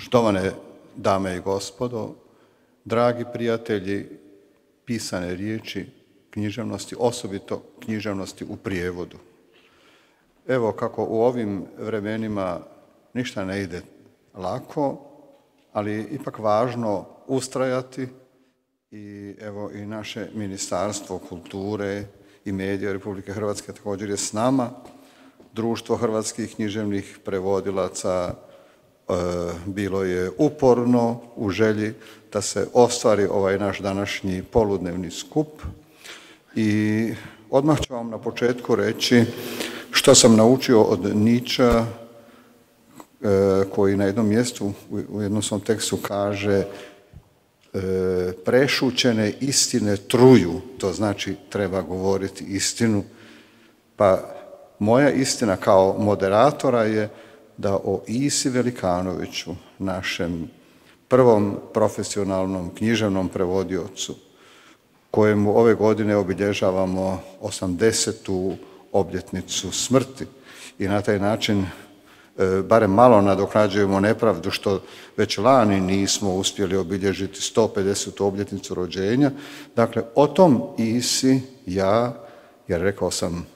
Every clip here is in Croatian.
Štovane dame i gospodo, dragi prijatelji pisane riječi književnosti, osobito književnosti u prijevodu. Evo kako u ovim vremenima ništa ne ide lako, ali je ipak važno ustrajati i evo i naše Ministarstvo kulture i medija Republike Hrvatske također je s nama. Društvo hrvatskih književnih prevodilaca bilo je uporno u želji da se ostvari ovaj naš današnji poludnevni skup i odmah ću vam na početku reći što sam naučio od Nietzschea koji na jednom mjestu u jednom svom tekstu kaže prešućene istine truju, to znači treba govoriti istinu. Pa moja istina kao moderatora je da o Isi Velikanoviću, našem prvom profesionalnom književnom prevodiocu, kojemu ove godine obilježavamo 80. obljetnicu smrti i na taj način barem malo nadoknađujemo nepravdu što već lani nismo uspjeli obilježiti 150. obljetnicu rođenja. Dakle, o tom Isi jer rekao sam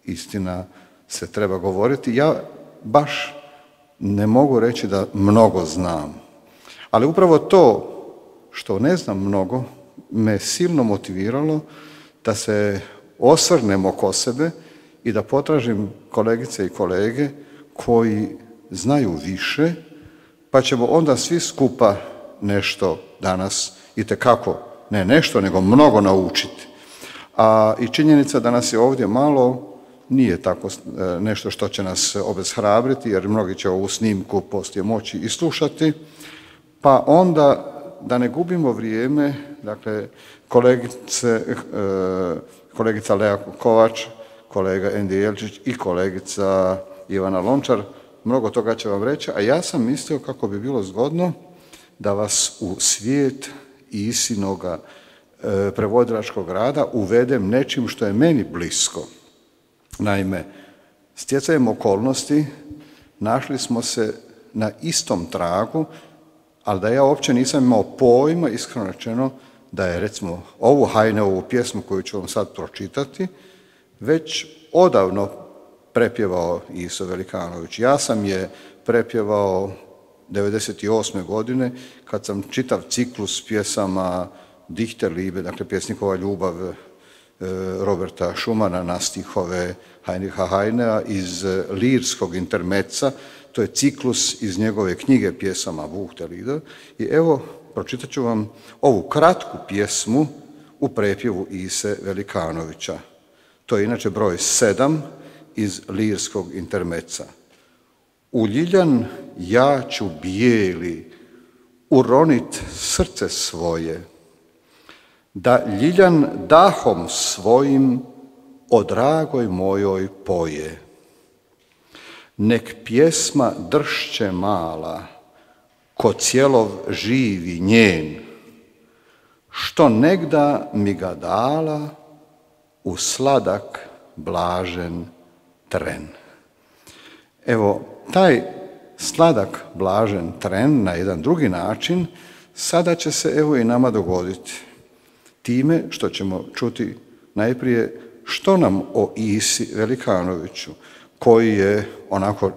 istina se treba govoriti, ja baš ne mogu reći da mnogo znam. Ali upravo to što ne znam mnogo me silno motiviralo da se osvrnem oko sebe i da potražim kolegice i kolege koji znaju više, pa ćemo onda svi skupa nešto danas itekako, ne nešto, nego mnogo naučiti. A i činjenica da nas je ovdje malo nije tako nešto što će nas obeshrabriti, jer mnogi će ovu snimku poslije moći i slušati, pa onda da ne gubimo vrijeme, dakle, kolegica Lea Kovač, kolega Endi Jelčić i kolegica Ivana Lončar, mnogo toga će vam reći, a ja sam mislio kako bi bilo zgodno da vas u svijet Isinoga prevodilačkog rada uvedem nečim što je meni blisko. Naime, stjecajem okolnosti našli smo se na istom tragu, ali da ja uopće nisam imao pojma, iskreno rečeno, da je recimo ovu Heineovu pjesmu koju ću vam sad pročitati, već odavno prepjevao Iso Velikanović. Ja sam je prepjevao 1998. godine kad sam čitav ciklus pjesama Dichterliebe, dakle pjesnikova ljubav Roberta Schumana na stihove Heinricha Heinea iz lirskog intermeca, to je ciklus iz njegove knjige pjesama Buchte Lieder. I evo, pročitat ću vam ovu kratku pjesmu u prepjevu Ise Velikanovića. To je inače broj 7 iz lirskog intermeca. U ljiljan ja ću bijeli uronit srce svoje, da ljiljan dahom svojim o dragoj mojoj poje. Nek pjesma dršće mala, ko cijelov živi njen, što negda mi ga dala u sladak blažen tren. Evo, taj sladak blažen tren na jedan drugi način sada će se evo i nama dogoditi. Time što ćemo čuti najprije što nam o Isi Velikanoviću, koji je onako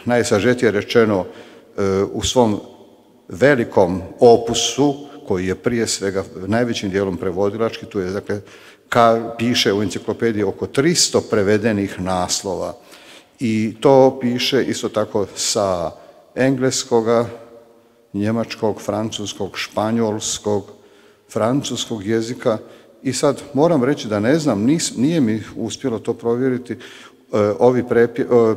najsažetije rečeno u svom velikom opusu, koji je prije svega najvećim dijelom prevodilački, tu je dakle piše u enciklopediji oko 300 prevedenih naslova i to piše isto tako sa engleskoga, njemačkog, francuskog, španjolskog, francuskog jezika i sad moram reći da ne znam, nije mi uspjelo to provjeriti, ovi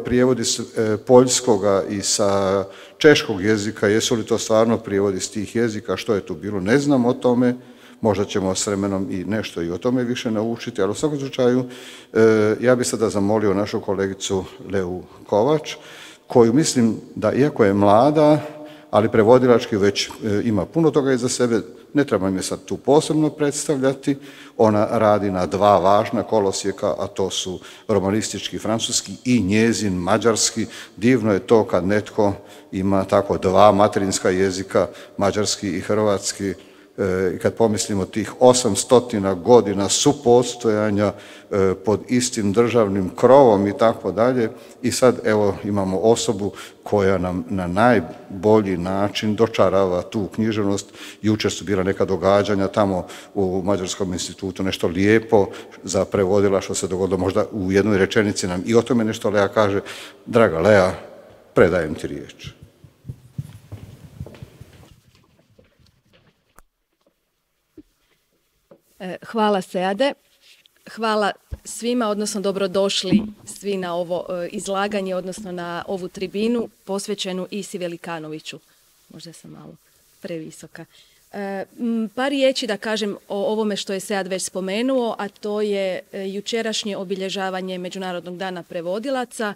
prijevodi s poljskoga i sa češkog jezika, jesu li to stvarno prijevodi s tih jezika, što je tu bilo, ne znam o tome, možda ćemo s vremenom i nešto i o tome više naučiti, ali u svakom slučaju ja bih sada zamolio našu kolegicu Leu Kovač, koju mislim da iako je mlada, ali prevodilački već ima puno toga iza sebe, Ne trebam je sad tu posebno predstavljati. Ona radi na dva važna kolosijeka, a to su romanistički francuski i njezin mađarski. Divno je to kad netko ima tako dva materinska jezika, mađarski i hrvatski. I kad pomislimo tih 800 godina supostojanja pod istim državnim krovom i tako dalje, i sad evo imamo osobu koja nam na najbolji način dočarava tu književnost. Jučer su bila neka događanja tamo u Mađarskom institutu, nešto lijepo za prevodila što se dogodilo, možda u jednoj rečenici nam i o tome nešto Lea kaže. Draga Lea, predajem ti riječ. Hvala Seade, hvala svima, odnosno dobrodošli svi na ovo izlaganje, odnosno na ovu tribinu posvećenu Isi Velikanoviću. Možda sam malo previsoka. Par riječi da kažem o ovome što je Sead već spomenuo, a to je jučerašnje obilježavanje Međunarodnog dana prevodilaca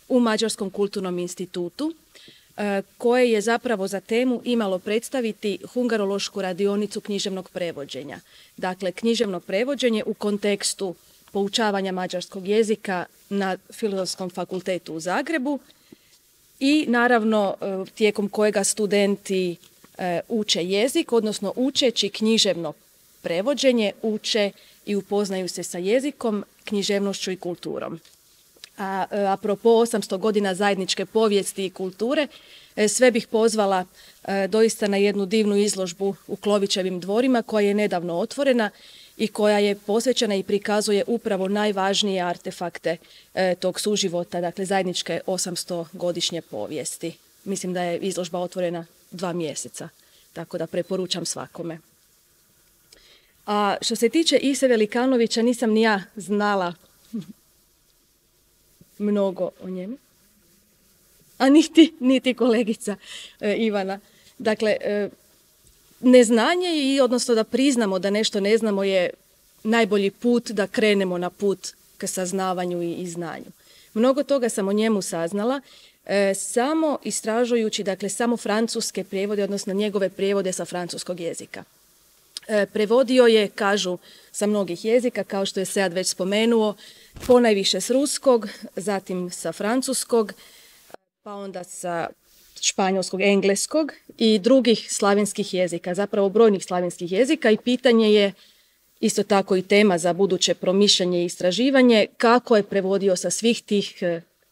u Mađarskom kulturnom institutu, koje je zapravo za temu imalo predstaviti hungarološku radionicu književnog prevođenja. Dakle, književno prevođenje u kontekstu poučavanja mađarskog jezika na Filozofskom fakultetu u Zagrebu i naravno tijekom kojega studenti uče jezik, odnosno učeći književno prevođenje, uče i upoznaju se sa jezikom, književnošću i kulturom. A apropo 800 godina zajedničke povijesti i kulture, sve bih pozvala doista na jednu divnu izložbu u Klovićevim dvorima koja je nedavno otvorena i koja je posvećena i prikazuje upravo najvažnije artefakte tog suživota, dakle zajedničke 800-godišnje povijesti. Mislim da je izložba otvorena 2 mjeseca, tako da preporučam svakome. A što se tiče Ise Velikanovića, nisam ni ja znala mnogo o njemu, a niti kolegica Ivana. Dakle, neznanje i odnosno da priznamo da nešto ne znamo je najbolji put da krenemo na put k saznavanju i znanju. Mnogo toga sam o njemu saznala samo istražujući, dakle, samo francuske prijevode, odnosno njegove prijevode sa francuskog jezika. Prevodio je, kažu, sa mnogih jezika, kao što je Sead već spomenuo, ponajviše s ruskog, zatim sa francuskog, pa onda sa španjolskog, engleskog i drugih slavenskih jezika, zapravo brojnih slavenskih jezika, i pitanje je isto tako i tema za buduće promišljanje i istraživanje, kako je prevodio sa svih tih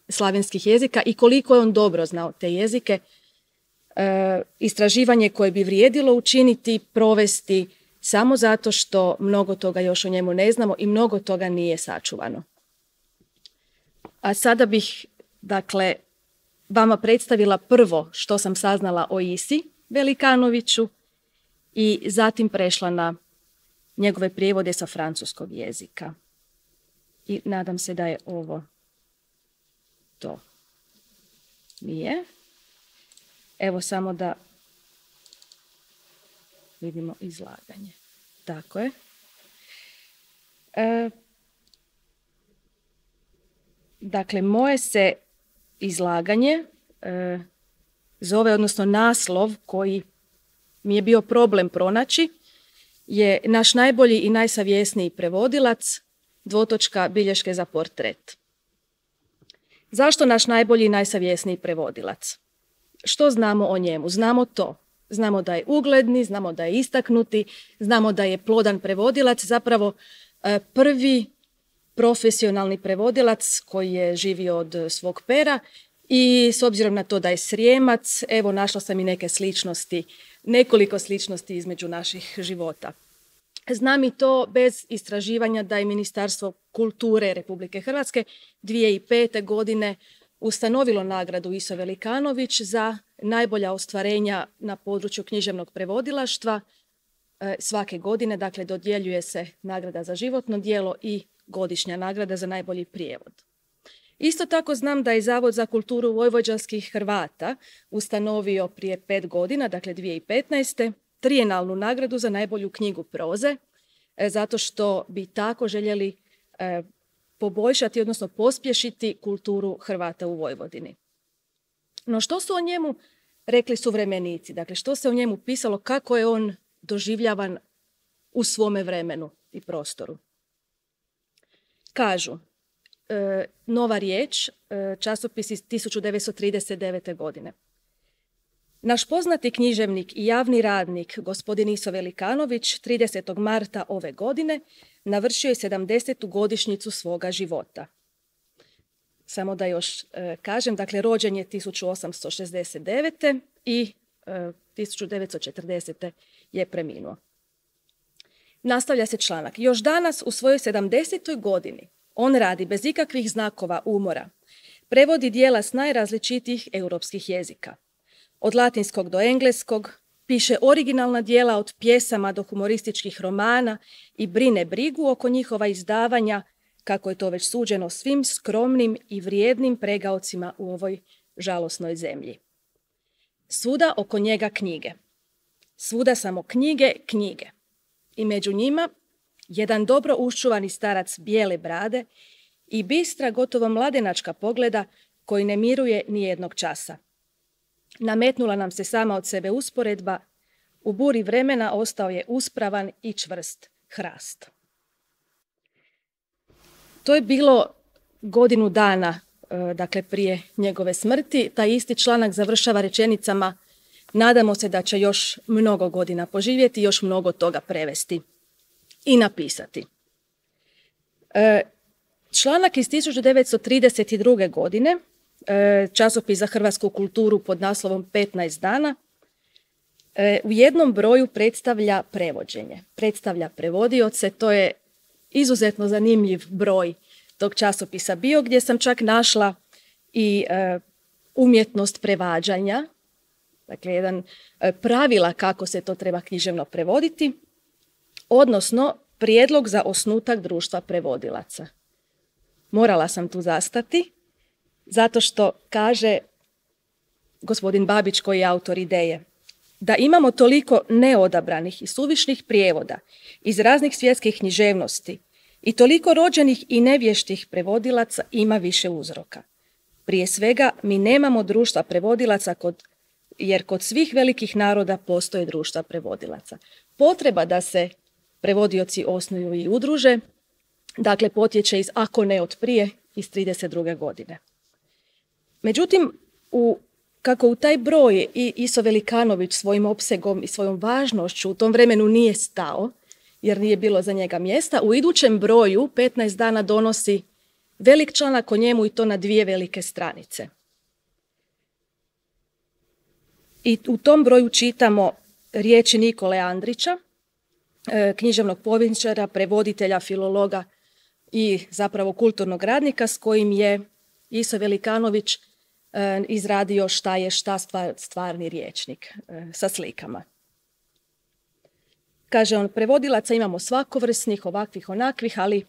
slavenskih jezika i koliko je on dobro znao te jezike. Istraživanje koje bi vrijedilo učiniti, provesti, samo zato što mnogo toga još o njemu ne znamo i mnogo toga nije sačuvano. A sada bih, dakle, vama predstavila prvo što sam saznala o Isi Velikanoviću i zatim prešla na njegove prijevode sa francuskog jezika. I nadam se da je ovo to. Nije. Evo samo da vidimo izlaganje. Tako je. Dakle, moje se izlaganje zove, odnosno naslov koji mi je bio problem pronaći, je naš najbolji i najsavjesniji prevodilac, bilješke za portret. Zašto naš najbolji i najsavjesniji prevodilac? Što znamo o njemu? Znamo to. Znamo da je ugledni, znamo da je istaknuti, znamo da je plodan prevodilac, zapravo prvi profesionalni prevodilac koji je živio od svog pera, i s obzirom na to da je Srijemac, evo našla sam i neke sličnosti, nekoliko sličnosti između naših života. Znam i to bez istraživanja da je Ministarstvo kulture Republike Hrvatske 2005. godine ustanovilo nagradu Iso Velikanović za najbolja ostvarenja na području književnog prevodilaštva. Svake godine, dakle, dodjeljuje se nagrada za životno djelo i godišnja nagrada za najbolji prijevod. Isto tako znam da je Zavod za kulturu vojvođanskih Hrvata ustanovio prije 5 godina, dakle 2015. trijenalnu nagradu za najbolju knjigu proze, zato što bi tako željeli poboljšati, odnosno pospješiti kulturu Hrvata u Vojvodini. No što su o njemu rekli suvremenici? Dakle, što se o njemu pisalo, kako je on doživljavan u svome vremenu i prostoru. Kažu, Nova riječ, časopis iz 1939. godine. Naš poznati književnik i javni radnik, gospodin Iso Velikanović, 30. marta ove godine navršio je 70. godišnjicu svoga života. Samo da još kažem, dakle, rođen je 1869. i 1940. je preminuo. Nastavlja se članak. Još danas u svojoj 70. godini on radi bez ikakvih znakova umora. Prevodi dijela s najrazličitijih europskih jezika. Od latinskog do engleskog, piše originalna dijela od pjesama do humorističkih romana i brine brigu oko njihova izdavanja, kako je to već suđeno svim skromnim i vrijednim pregaocima u ovoj žalosnoj zemlji. Svuda oko njega knjige. Svuda samo knjige, knjige. I među njima jedan dobro uščuvani starac bijele brade i bistra, gotovo mladenačka pogleda koji ne miruje ni jednog časa. Nametnula nam se sama od sebe usporedba, u buri vremena ostao je uspravan i čvrst hrast. To je bilo godinu dana, dakle, prije njegove smrti. Taj isti članak završava rečenicama: nadamo se da će još mnogo godina poživjeti, još mnogo toga prevesti i napisati. Članak iz 1932. godine, časopis za hrvatsku kulturu pod naslovom 15 dana, u jednom broju predstavlja prevođenje, predstavlja prevodioce. To je izuzetno zanimljiv broj tog časopisa bio, gdje sam čak našla i umjetnost prevađanja, dakle, jedan pravila kako se to treba književno prevoditi, odnosno prijedlog za osnutak društva prevodilaca. Morala sam tu zastati, zato što kaže gospodin Babić, koji je autor ideje, da imamo toliko neodabranih i suvišnih prijevoda iz raznih svjetskih književnosti i toliko rođenih i nevještih prevodilaca ima više uzroka. Prije svega, mi nemamo društva prevodilaca jer kod svih velikih naroda postoje društva prevodilaca. Potreba da se prevodioci osnuju i udruže, dakle, potječe ako ne od prije, iz 32. godine. Međutim, kako u taj broj i Iso Velikanović svojim opsegom i svojom važnošću u tom vremenu nije stao, jer nije bilo za njega mjesta, u idućem broju 15 dana donosi velik članak o njemu, i to na 2 velike stranice. I u tom broju čitamo riječi Nikole Andrića, književnog povjesničara, prevoditelja, filologa i zapravo kulturnog radnika, s kojim je Iso Velikanović izradio šta je šta stvarni rječnik sa slikama. Kaže on, prevodilaca imamo svakovrsnih, ovakvih, onakvih, ali,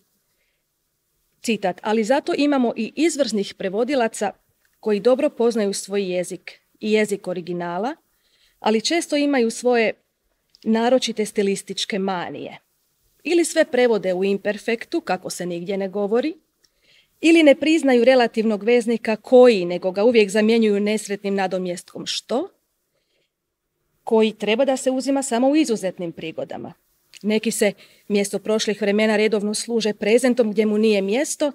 citat, ali zato imamo i izvrsnih prevodilaca koji dobro poznaju svoj jezik i jezik originala, ali često imaju svoje naročite stilističke manije. Ili sve prevode u imperfektu, kako se nigdje ne govori, ili ne priznaju relativnog veznika koji, nego ga uvijek zamjenjuju nesretnim nadomjestkom što, koji treba da se uzima samo u izuzetnim prigodama. Neki se mjesto prošlih vremena redovno služe prezentom gdje mu nije mjesto,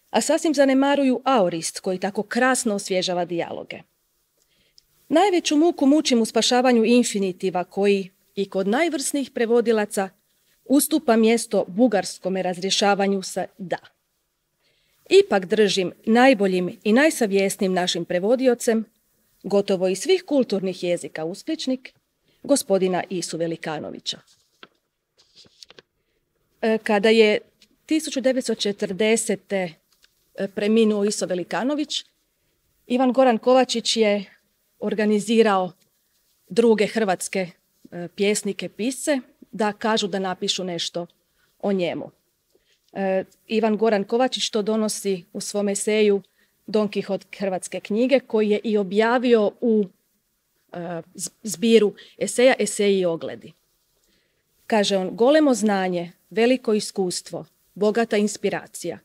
a sasvim zanemaruju aorist koji tako krasno osvježava dijaloge. Najveću muku mučim u spašavanju infinitiva koji i kod najvrsnijih prevodilaca ustupa mjesto bugarskome razrješavanju sa da. Ipak držim najboljim i najsavjesnijim našim prevodiocem, gotovo iz svih kulturnih jezika uspješnik, gospodina Isu Velikanovića. Kada je 1940. preminuo Iso Velikanović, Ivan Goran Kovačić je organizirao druge hrvatske pjesnike, pisce, da kažu da napišu nešto o njemu. Ivan Goran Kovačić to donosi u svom eseju Don Kihot hrvatske knjige, koji je i objavio u zbiru eseja Eseji i ogledi. Kaže on, golemo znanje, veliko iskustvo, bogata inspiracija.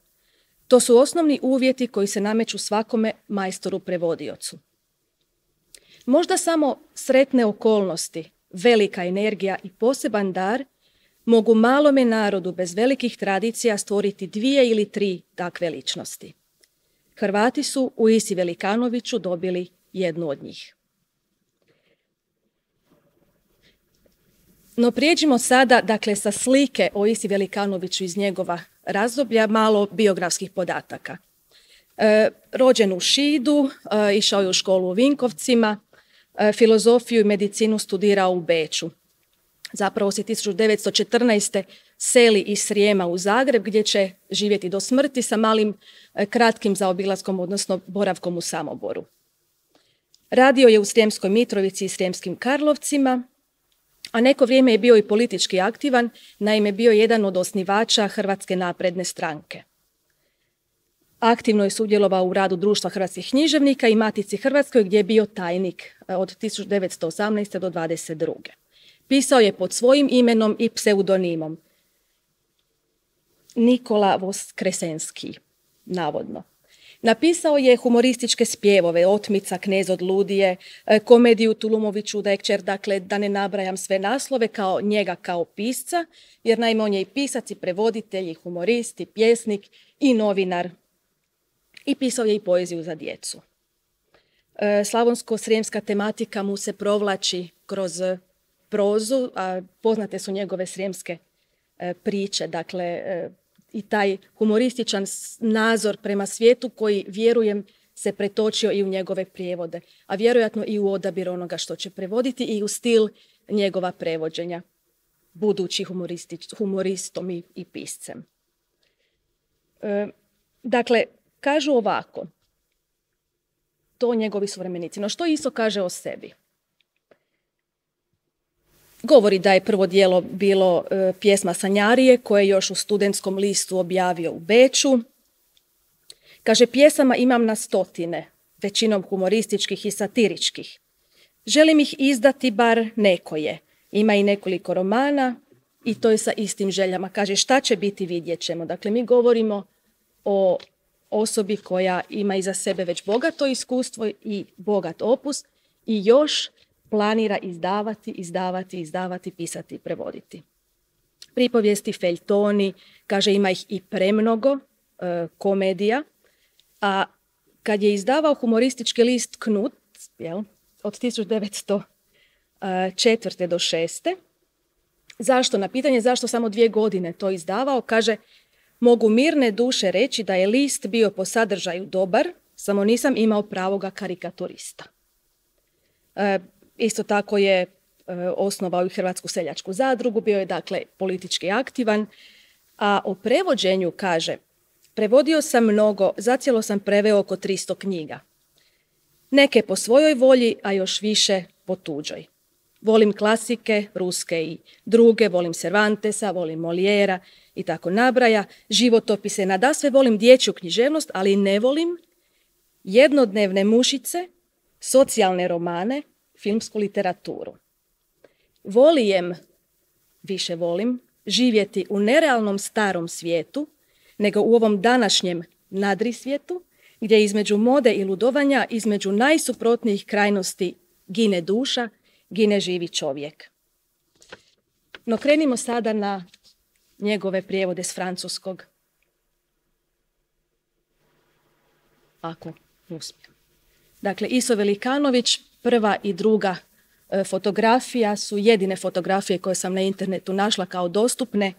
To su osnovni uvjeti koji se nameću svakome majstoru prevodiocu. Možda samo sretne okolnosti velika energija i poseban dar, mogu malome narodu bez velikih tradicija stvoriti 2 ili 3 takve ličnosti. Hrvati su u Isi Velikanoviću dobili jednu od njih. No prijeđimo sada, dakle, sa slike o Isi Velikanoviću iz njegova razdoblja, malo biografskih podataka. Rođen u Šidu, išao je u školu u Vinkovcima, filozofiju i medicinu studirao u Beču. Zapravo se 1914. seli iz Srijema u Zagreb gdje će živjeti do smrti sa malim kratkim zaobilaskom, odnosno boravkom u Samoboru. Radio je u Srijemskoj Mitrovici i Srijemskim Karlovcima, a neko vrijeme je bio i politički aktivan, naime bio je jedan od osnivača Hrvatske napredne stranke. Aktivno je sudjelovao u radu Društva hrvatskih književnika i Matici Hrvatskoj gdje je bio tajnik od 1918. do 1922. Pisao je pod svojim imenom i pseudonimom. Nikola Voskresenski, navodno. Napisao je humorističke spjevove, Otmica, Knez od Ludije, komediju Tulumovi čuda je kćer, dakle da ne nabrajam sve naslove kao njega kao pisca, jer naime on je i pisac i prevoditelj, i humorist, i pjesnik, i novinar. I pisao je i poeziju za djecu. Slavonsko-srijemska tematika mu se provlači kroz prozu, a poznate su njegove srijemske priče, dakle i taj humorističan nazor prema svijetu koji, vjerujem, se pretočio i u njegove prijevode, a vjerojatno i u odabir onoga što će prevoditi i u stil njegova prevođenja, budući humoristom i piscem. Dakle, kažu ovako, to njegovi suvremenici. No što Iso kaže o sebi? Govori da je prvo djelo bilo pjesma Sanjarije, koje je još u Studentskom listu objavio u Beču. Kaže, pjesama imam na 100, većinom humorističkih i satiričkih. Želim ih izdati bar nekoje. Ima i nekoliko romana i to je sa istim željama. Kaže, šta će biti, vidjet ćemo. Dakle, mi govorimo o osobi koja ima iza sebe već bogato iskustvo i bogat opus i još planira izdavati, pisati i prevoditi. Pripovijesti, feljtoni, kaže ima ih i premnogo, komedija, a kad je izdavao humoristički list Knut, od 1904. do 6. Zašto? Na pitanje zašto samo 2 godine to izdavao, kaže, mogu mirne duše reći da je list bio po sadržaju dobar, samo nisam imao pravoga karikaturista. Isto tako je osnovao i Hrvatsku seljačku zadrugu, bio je dakle politički aktivan, a o prevođenju kaže, prevodio sam mnogo, zacijelo sam preveo oko 300 knjiga. Neke po svojoj volji, a još više po tuđoj. Volim klasike, ruske i druge, volim Cervantesa, volim Molijera i tako nabraja, životopise, nadasve volim dječju književnost, ali ne volim jednodnevne mušice, socijalne romane, filmsku literaturu. Više volim živjeti u nerealnom starom svijetu, nego u ovom današnjem nadrisvijetu, gdje između mode i ludovanja, između najsuprotnijih krajnosti gine duša, gine živi čovjek. No krenimo sada na njegove prijevode s francuskog. Ako uspijem. Dakle, Iso Velikanović, prva i druga fotografija su jedine fotografije koje sam na internetu našla kao dostupne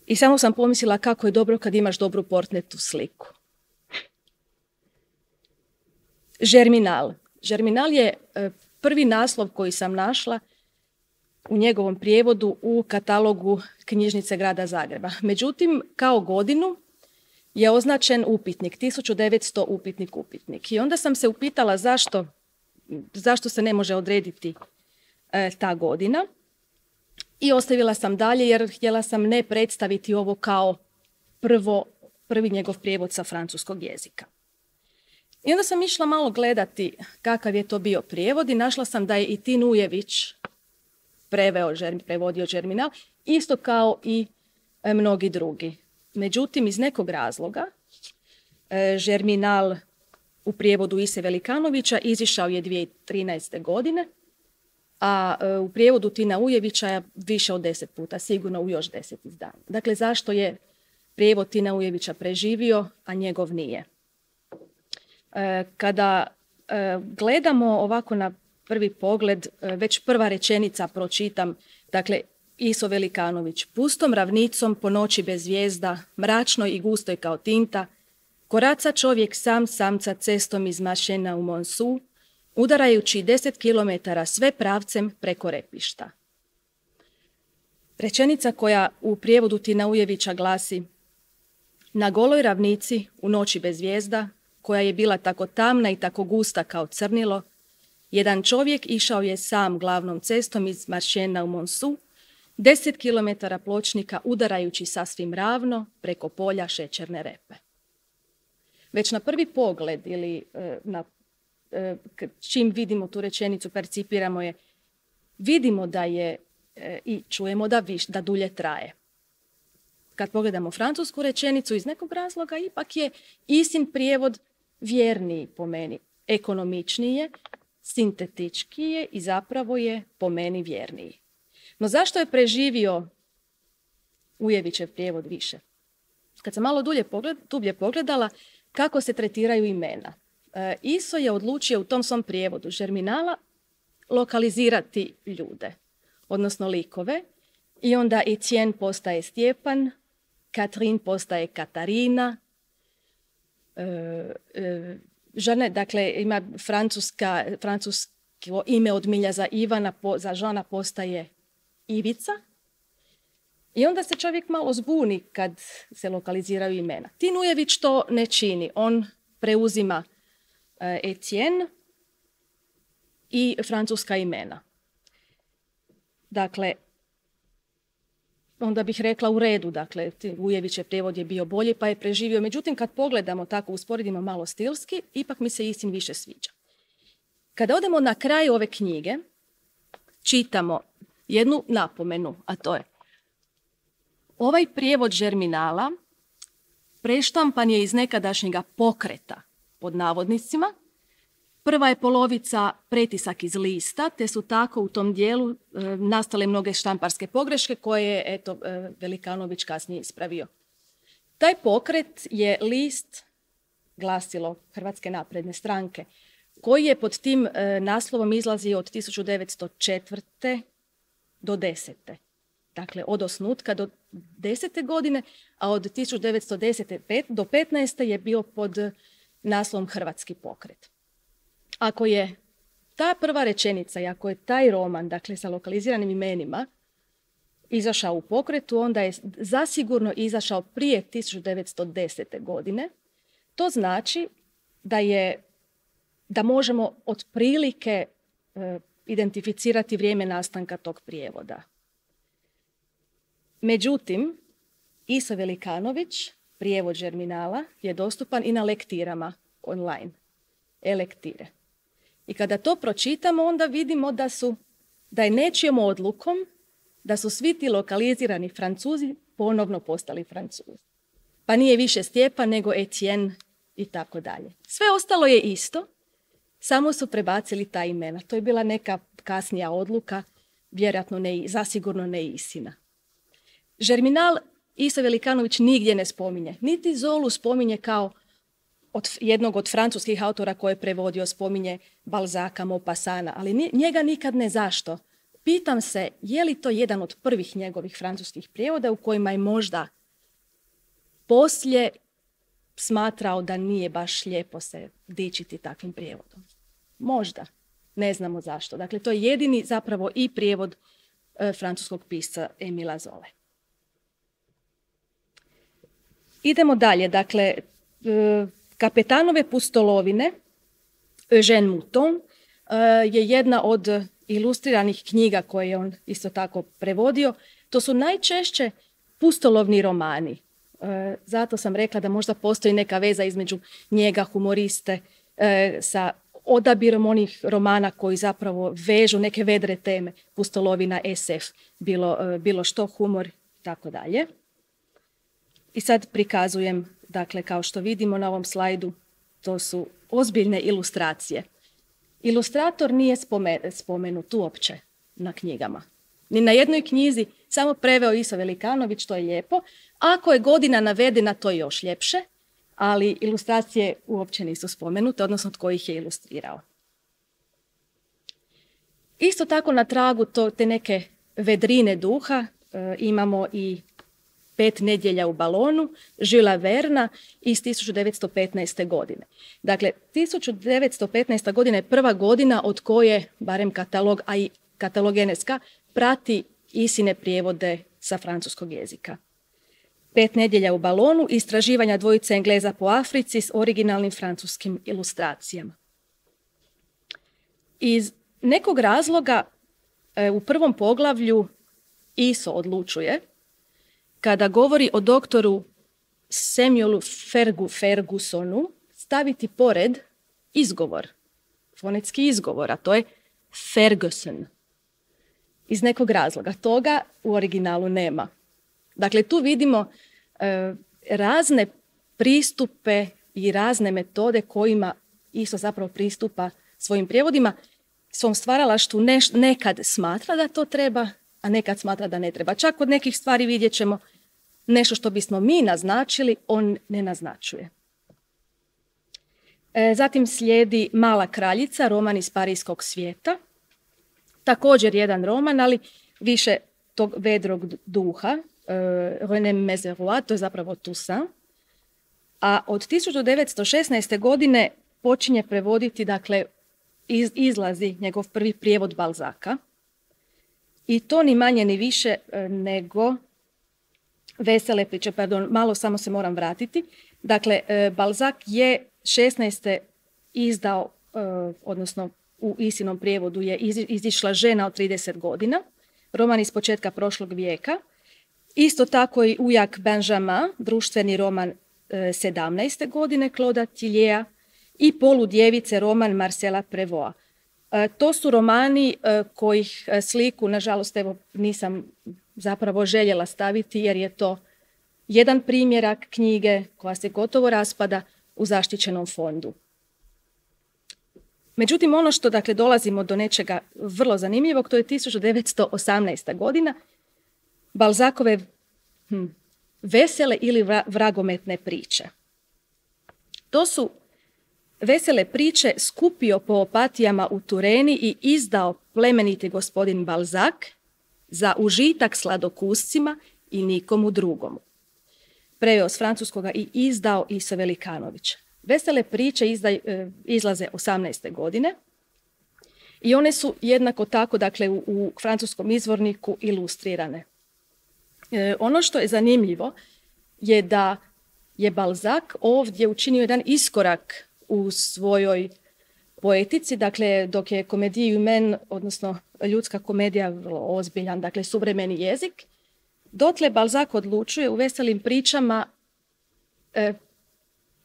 i samo sam pomislila kako je dobro kad imaš dobru portretnu sliku. Žerminal. Žerminal je prvi naslov koji sam našla u njegovom prijevodu u katalogu knjižnice grada Zagreba. Međutim, kao godinu je označen upitnik, 1900 upitnik. I onda sam se upitala zašto se ne može odrediti ta godina. I ostavila sam dalje jer htjela sam ne predstaviti ovo kao prvi njegov prijevod sa francuskog jezika. I onda sam išla malo gledati kakav je to bio prijevod i našla sam da je i Tin Ujević prevodio Žerminal, isto kao i mnogi drugi. Međutim, iz nekog razloga Žerminal u prijevodu Ise Velikanovića izišao je 2013. godine, a u prijevodu Tina Ujevića više od 10 puta, sigurno u još 10 izdanja. Dakle, zašto je prijevod Tina Ujevića preživio, a njegov nije? Kada gledamo ovako na prvi pogled, već prva rečenica pročitam, dakle, Iso Velikanović: pustom ravnicom po noći bez zvijezda, mračnoj i gustoj kao tinta, koraca čovjek sam samca cestom iz Mašena u Monsu, udarajući 10 kilometara sve pravcem preko repišta. Rečenica koja u prijevodu Tina Ujevića glasi: na goloj ravnici u noći bez zvijezda, koja je bila tako tamna i tako gusta kao crnilo, jedan čovjek išao je sam glavnom cestom iz Maršena u Monsu, 10 kilometara pločnika udarajući sasvim ravno preko polja šećerne repe. Već na prvi pogled ili čim vidimo tu rečenicu, percipiramo je, vidimo da je i čujemo da dulje traje. Kad pogledamo francusku rečenicu, iz nekog razloga ipak je Isin prijevod vjerniji po meni, ekonomičniji je, sintetičkiji je i zapravo je po meni vjerniji. No zašto je preživio Ujevićev prijevod više? Kad sam malo dublje pogledala kako se tretiraju imena, Iso je odlučio u tom svom prijevodu Germinala lokalizirati ljude, odnosno likove, i onda Etienne postaje Stjepan, Katrin postaje Katarina, žene, dakle ima francusko ime od milja za Ivana, za Žana postaje Ivica, i onda se čovjek malo zbuni kad se lokaliziraju imena. Tin Ujević to ne čini, on preuzima Etienne i francuska imena. Dakle, onda bih rekla u redu, dakle, Ujevićev prijevod je bio bolji pa je preživio. Međutim, kad pogledamo tako, usporedimo malo stilski, ipak mi se Isin više sviđa. Kada odemo na kraj ove knjige, čitamo jednu napomenu, a to je: ovaj prijevod Germinala preštampan je iz nekadašnjega pokreta, pod navodnicima. Prva je polovica pretisak iz lista, te su tako u tom dijelu nastale mnoge štamparske pogreške koje je, eto, Velikanović kasnije ispravio. Taj pokret je list, glasilo Hrvatske napredne stranke, koji je pod tim naslovom izlazio od 1904. do 10. Dakle, od osnutka do 10. godine, a od 1910. do 15. je bio pod naslovom Hrvatski pokret. Ako je ta prva rečenica i ako je taj roman, dakle sa lokaliziranim imenima, izašao u pokretu, onda je zasigurno izašao prije 1910. godine. To znači da možemo otprilike identificirati vrijeme nastanka tog prijevoda. Međutim, Iso Velikanović, prijevod Germinala, je dostupan i na lektirama online, e-lektire. I kada to pročitamo, onda vidimo da je nečijom odlukom da su svi ti lokalizirani Francuzi ponovno postali Francuzi. Pa nije više Stjepan nego Etienne i tako dalje. Sve ostalo je isto, samo su prebacili ta imena. To je bila neka kasnija odluka, vjerojatno zasigurno ne Isina. Germinal Iso Velikanović nigdje ne spominje. Niti Zolu spominje kao jednog od francuskih autora koje je prevodio, spominje Balzaka, Maupassana, ali njega nikad ne. Zašto? Pitam se, je li to jedan od prvih njegovih francuskih prijevoda u kojima je možda poslije smatrao da nije baš lijepo se dičiti takvim prijevodom. Možda. Ne znamo zašto. Dakle, to je jedini zapravo i prijevod francuskog pisca Emila Zole. Idemo dalje. Dakle, Kapetanove pustolovine, Eugène Mouton, je jedna od ilustriranih knjiga koje je on isto tako prevodio. To su najčešće pustolovni romani. Zato sam rekla da možda postoji neka veza između njega, humoriste, sa odabirom onih romana koji zapravo vežu neke vedre teme, pustolovina, SF, bilo što, humor i tako dalje. I sad prikazujem, dakle, kao što vidimo na ovom slajdu, to su ozbiljne ilustracije. Ilustrator nije spomenut uopće. na knjigama. Ni na jednoj knjizi, samo preveo Iso Velikanović, to je lijepo. Ako je godina navedena, to je još ljepše, ali ilustracije uopće nisu spomenute, odnosno tko ih je ilustrirao. Isto tako na tragu te neke vedrine duha imamo i 5 nedjelja u balonu, Julesa Verna iz 1915. godine. Dakle, 1915. godina je prva godina od koje, barem katalog, a i katalog NSK, prati Isine prijevode sa francuskog jezika. 5 nedjelja u balonu, istraživanja dvojice Engleza po Africi s originalnim francuskim ilustracijama. Iz nekog razloga u prvom poglavlju Iso odlučuje, kada govori o doktoru Samuelu Fergusonu, staviti pored izgovor, fonetski izgovor, a to je Ferguson. Iz nekog razloga. Toga u originalu nema. Dakle, tu vidimo razne pristupe i razne metode kojima Iso zapravo pristupa svojim prijevodima, svom stvaralaštvu nekad smatra da to treba, a nekad smatra da ne treba. Čak od nekih stvari vidjet ćemo nešto što bismo mi naznačili, on ne naznačuje. Zatim slijedi Mala kraljica, roman iz parijskog svijeta. Također jedan roman, ali više tog vedrog duha, René Mézerois, to je zapravo Toussaint. A od 1916. godine počinje prevoditi, dakle, izlazi njegov prvi prijevod Balzaka. I to ni manje ni više nego Vesele priče, malo samo se moram vratiti. Dakle, Balzac je 16. izdao, odnosno u Isinom prijevodu je izišla Žena od 30 godina, roman iz početka prošlog vijeka. Isto tako i Ujak Benjamin, društveni roman 17. godine Claude'a Tillieja i Poludjevice, roman Marcela Prévosta. To su romani kojih sliku, nažalost, evo, nisam zapravo željela staviti jer je to jedan primjerak knjige koja se gotovo raspada u zaštićenom fondu. Međutim, ono što, dakle, dolazimo do nečega vrlo zanimljivog, to je 1918. godina, Balzacove vesele ili vragometne priče. To su vesele priče skupio po opatijama u Tureni i izdao plemeniti gospodin Balzac za užitak sladokuscima i nikomu drugomu. Preveo s francuskoga i izdao Iso Velikanović. Vesele priče izlaze 18. godine i one su jednako tako, dakle, u francuskom izvorniku ilustrirane. Ono što je zanimljivo je da je Balzac ovdje učinio jedan iskorak u svojoj poetici, dakle, dok je Comédie humaine, odnosno ljudska komedija, vrlo ozbiljan, dakle, suvremeni jezik, dotle Balzac odlučuje u veselim pričama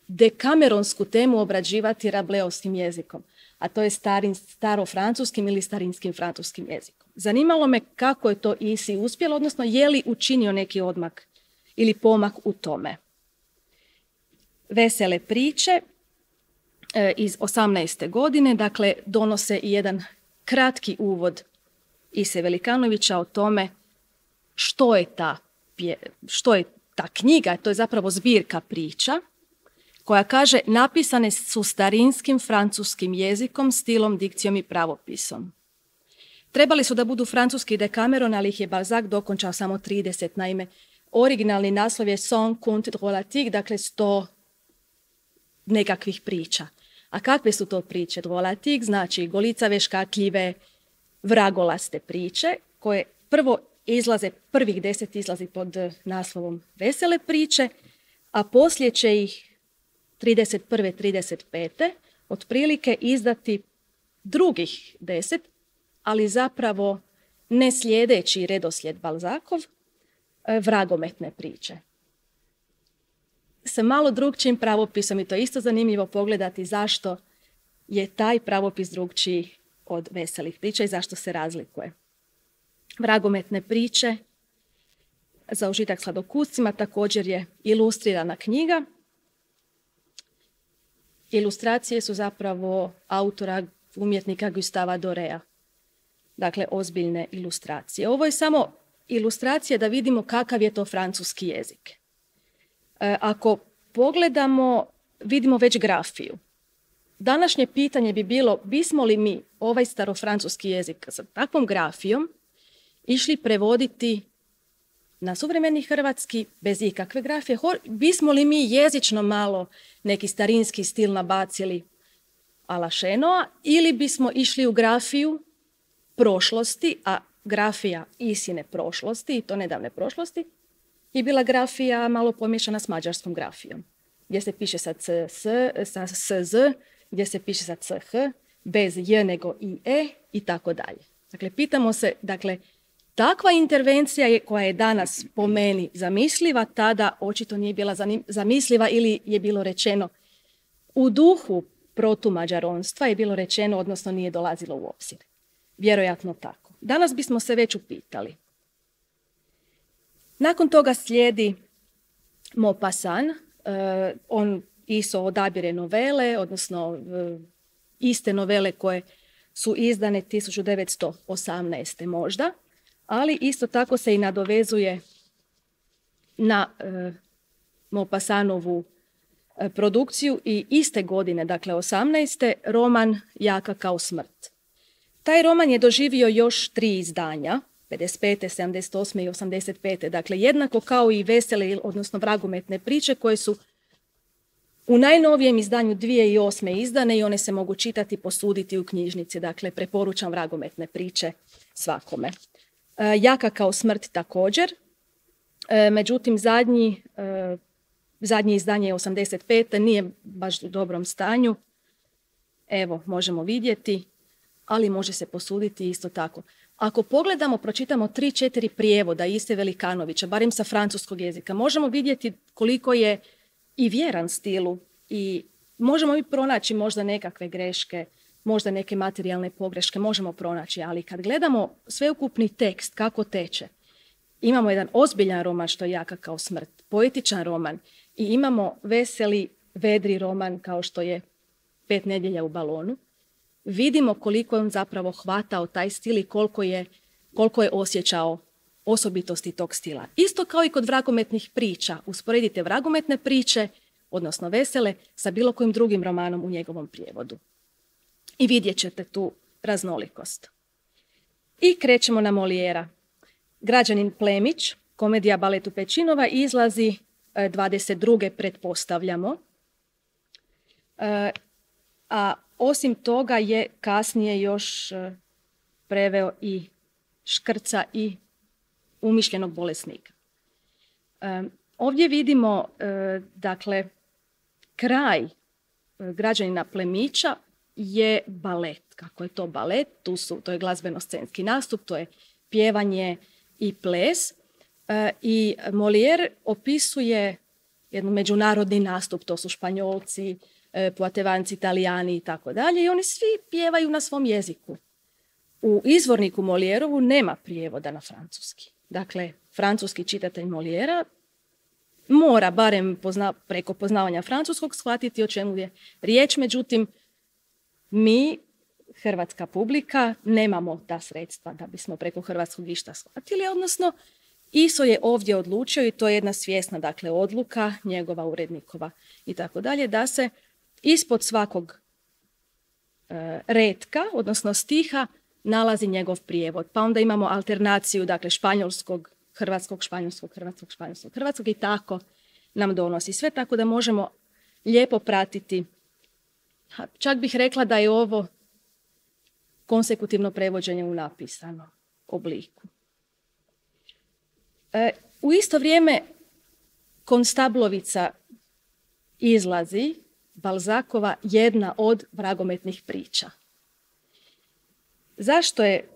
dekameronsku temu obrađivati rableovskim jezikom, a to je starofrancuskim ili starinskim francuskim jezikom. Zanimalo me kako je to Isi uspjelo, odnosno je li učinio neki odmak ili pomak u tome. Vesele priče iz 18. godine, dakle, donose i jedan kratki uvod Ise Velikanovića o tome što je ta knjiga. To je zapravo zbirka priča koja kaže napisane su starinskim francuskim jezikom, stilom, dikcijom i pravopisom. Trebali su da budu francuski Dekameron, ali ih je Balzac dokončao samo 30. Naime, originalni naslov je 100 contes drôlatiques, dakle 100 nekakvih priča. A kakve su to priče? Drôlatiques znači golicave, škakljive, vragolaste priče koje prvo izlaze, prvih 10 izlazi pod naslovom Vesele priče, a poslije će ih 31. 35. otprilike izdati drugih 10, ali zapravo ne slijedeći redoslijed Balzacov, vragometne priče. Sa malo drugčijim pravopisom, i to je isto zanimljivo pogledati zašto je taj pravopis drugčiji od veselih priča i zašto se razlikuje. Vragometne priče za užitak sladokuscima također je ilustrirana knjiga. Ilustracije su zapravo autora umjetnika Gustava Dorea. dakle ozbiljne ilustracije. Ovo je samo ilustracija da vidimo kakav je to francuski jezik. Ako pogledamo, vidimo već grafiju. Današnje pitanje bi bilo, bismo li mi ovaj starofrancuski jezik sa takvom grafijom išli prevoditi na suvremeni hrvatski bez ikakve grafije? Bismo li mi jezično malo neki starinski stil nabacili a la Šenoa ili bismo išli u grafiju prošlosti, a grafija isine prošlosti, i to nedavne prošlosti, je bila grafija malo pomiješana s mađarskom grafijom, gdje se piše sa SZ, gdje se piše sa CH, bez J nego i E i tako dalje. Dakle, pitamo se, takva intervencija koja je danas po meni zamisliva, tada očito nije bila zamisliva ili je bilo rečeno u duhu protumađaronstva je bilo rečeno, odnosno nije dolazilo u obzir. Vjerojatno tako. Danas bismo se već upitali. Nakon toga slijedi Maupassant. On isto odabire novele, odnosno iste novele koje su izdane 1918. možda, ali isto tako se i nadovezuje na Maupassantovu produkciju i iste godine, dakle 18. roman Jaka kao smrt. Taj roman je doživio još 3 izdanja, 55., 78. i 85. Dakle, jednako kao i vesele, odnosno vragometne priče koje su u najnovijem izdanju 2008. izdane i one se mogu čitati, posuditi u knjižnici. Dakle, preporučam vragometne priče svakome. Jaka kao smrt također. Međutim, zadnje izdanje je 85. Nije baš u dobrom stanju. Evo, možemo vidjeti, ali može se posuditi isto tako. Ako pogledamo, pročitamo 3-4 prijevoda Iste Velikanovića, barem sa francuskog jezika, možemo vidjeti koliko je i vjeran stilu i možemo i pronaći možda nekakve greške, možda neke materijalne pogreške, možemo pronaći, ali kad gledamo sveukupni tekst, kako teče, imamo jedan ozbiljan roman što je Jaka kao smrt, poetičan roman i imamo veseli, vedri roman kao što je 5 nedjelja u balonu. Vidimo koliko je on zapravo hvatao taj stil i koliko je osjećao osobitosti tog stila. Isto kao i kod vragometnih priča. Usporedite vragometne priče, odnosno vesele, sa bilo kojim drugim romanom u njegovom prijevodu. I vidjet ćete tu raznolikost. I krećemo na Molijera. Građanin Plemić, komedija baletu Pečinova, izlazi 22. pretpostavljamo. A osim toga je kasnije još preveo i Škrca i Umišljenog bolesnika. Ovdje vidimo, dakle, kraj Građanina Plemića je balet. Kako je to balet? To je glazbeno-scenski nastup, to je pjevanje i ples. I Molière opisuje jedan međunarodni nastup, to su Španjolci, Poatevanci, Italijani i tako dalje, i oni svi pjevaju na svom jeziku. U izvorniku Moliérovu nema prijevoda na francuski. Dakle, francuski čitatelj Moliéra mora barem preko poznavanja francuskog shvatiti o čemu je riječ, međutim, mi, hrvatska publika, nemamo ta sredstva da bismo preko hrvatskog išta shvatili, odnosno Iso je ovdje odlučio, i to je jedna svjesna, dakle, odluka njegova, urednikova i tako dalje, da se ispod svakog retka, odnosno stiha, nalazi njegov prijevod. Pa onda imamo alternaciju, dakle, španjolskog, hrvatskog, španjolskog, hrvatskog, španjolskog, hrvatskog i tako nam donosi sve, tako da možemo lijepo pratiti. Čak bih rekla da je ovo konsekutivno prevođenje u napisanom obliku. U isto vrijeme Konstablovica izlazi, Balzacova, jedna od vragometnih priča. Zašto je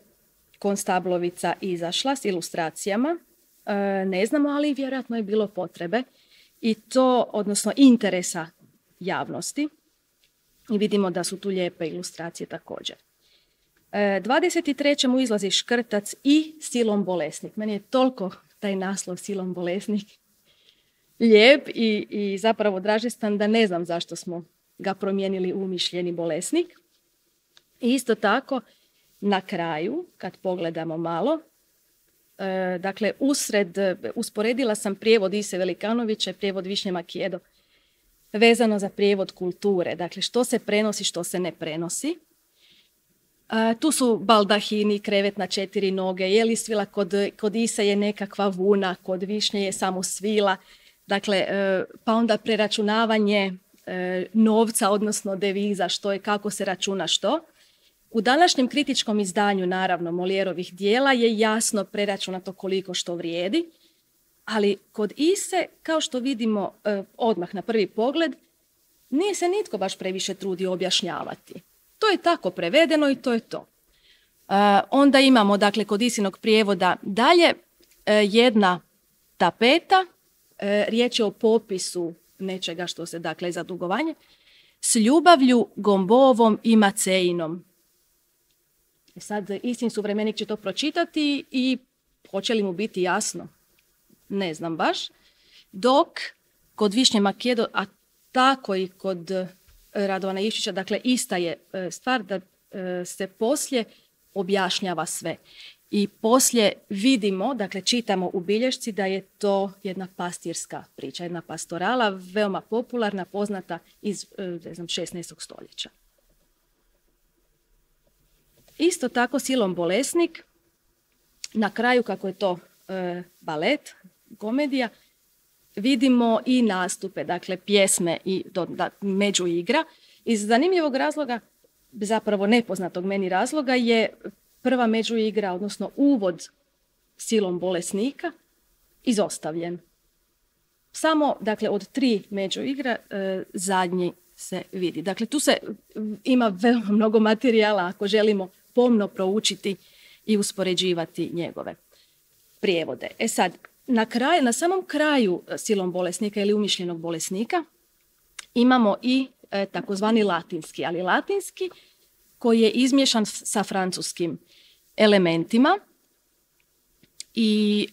Konstablovica izašla s ilustracijama? Ne znamo, ali vjerojatno je bilo potrebe i to, odnosno interesa javnosti. I vidimo da su tu lijepe ilustracije također. 23. mu izlazi Škrtac i Silom bolesnik. Meni je toliko taj naslov Silom bolesnik lijep i zapravo dražestan da ne znam zašto smo ga promijenili u Umišljeni bolesnik. I isto tako na kraju, kad pogledamo malo, dakle, usporedila sam prijevod Ise Velikanovića i prijevod Višnje Makijedo vezano za prijevod kulture. Dakle, što se prenosi, što se ne prenosi. Tu su baldahini, krevet na 4 noge, je li svila kod Ise je nekakva vuna, kod Višnje je samo svila. Dakle, pa onda preračunavanje novca, odnosno deviza, što je, kako se računa što. U današnjem kritičkom izdanju, naravno, Molijerovih dijela je jasno preračunato koliko što vrijedi, ali kod Ise, kao što vidimo odmah na prvi pogled, nije se nitko baš previše trudio objašnjavati. To je tako prevedeno i to je to. Onda imamo, dakle, kod Isinog prijevoda dalje jedna tapeta, riječ je o popisu nečega što se, dakle, za dugovanje, s ljubavlju Gombovom i Macejinom. Sad Isin suvremenik će to pročitati i hoće li mu biti jasno? Ne znam baš. Dok kod Višnje Makijedo, a tako i kod Radovana Ivčića, dakle, ista je stvar da se poslije objašnjava sve. I poslije vidimo, dakle, čitamo u bilješci da je to jedna pastirska priča, jedna pastorala, veoma popularna, poznata iz 16. stoljeća. Isto tako Silom bolesnik, na kraju, kako je to balet, komedija, vidimo i nastupe, dakle, pjesme i međuigra. Iz zanimljivog razloga, zapravo nepoznatog meni razloga, je prva međuigra, odnosno uvod Silom bolesnika, izostavljen. Samo, dakle, od 3 međuigra zadnji se vidi. Dakle, tu se ima veoma mnogo materijala ako želimo pomno proučiti i uspoređivati njegove prijevode. Sad, na samom kraju Silom bolesnika ili umišljenog bolesnika imamo i takozvani latinski, ali latinski koji je izmiješan sa francuskim elementima i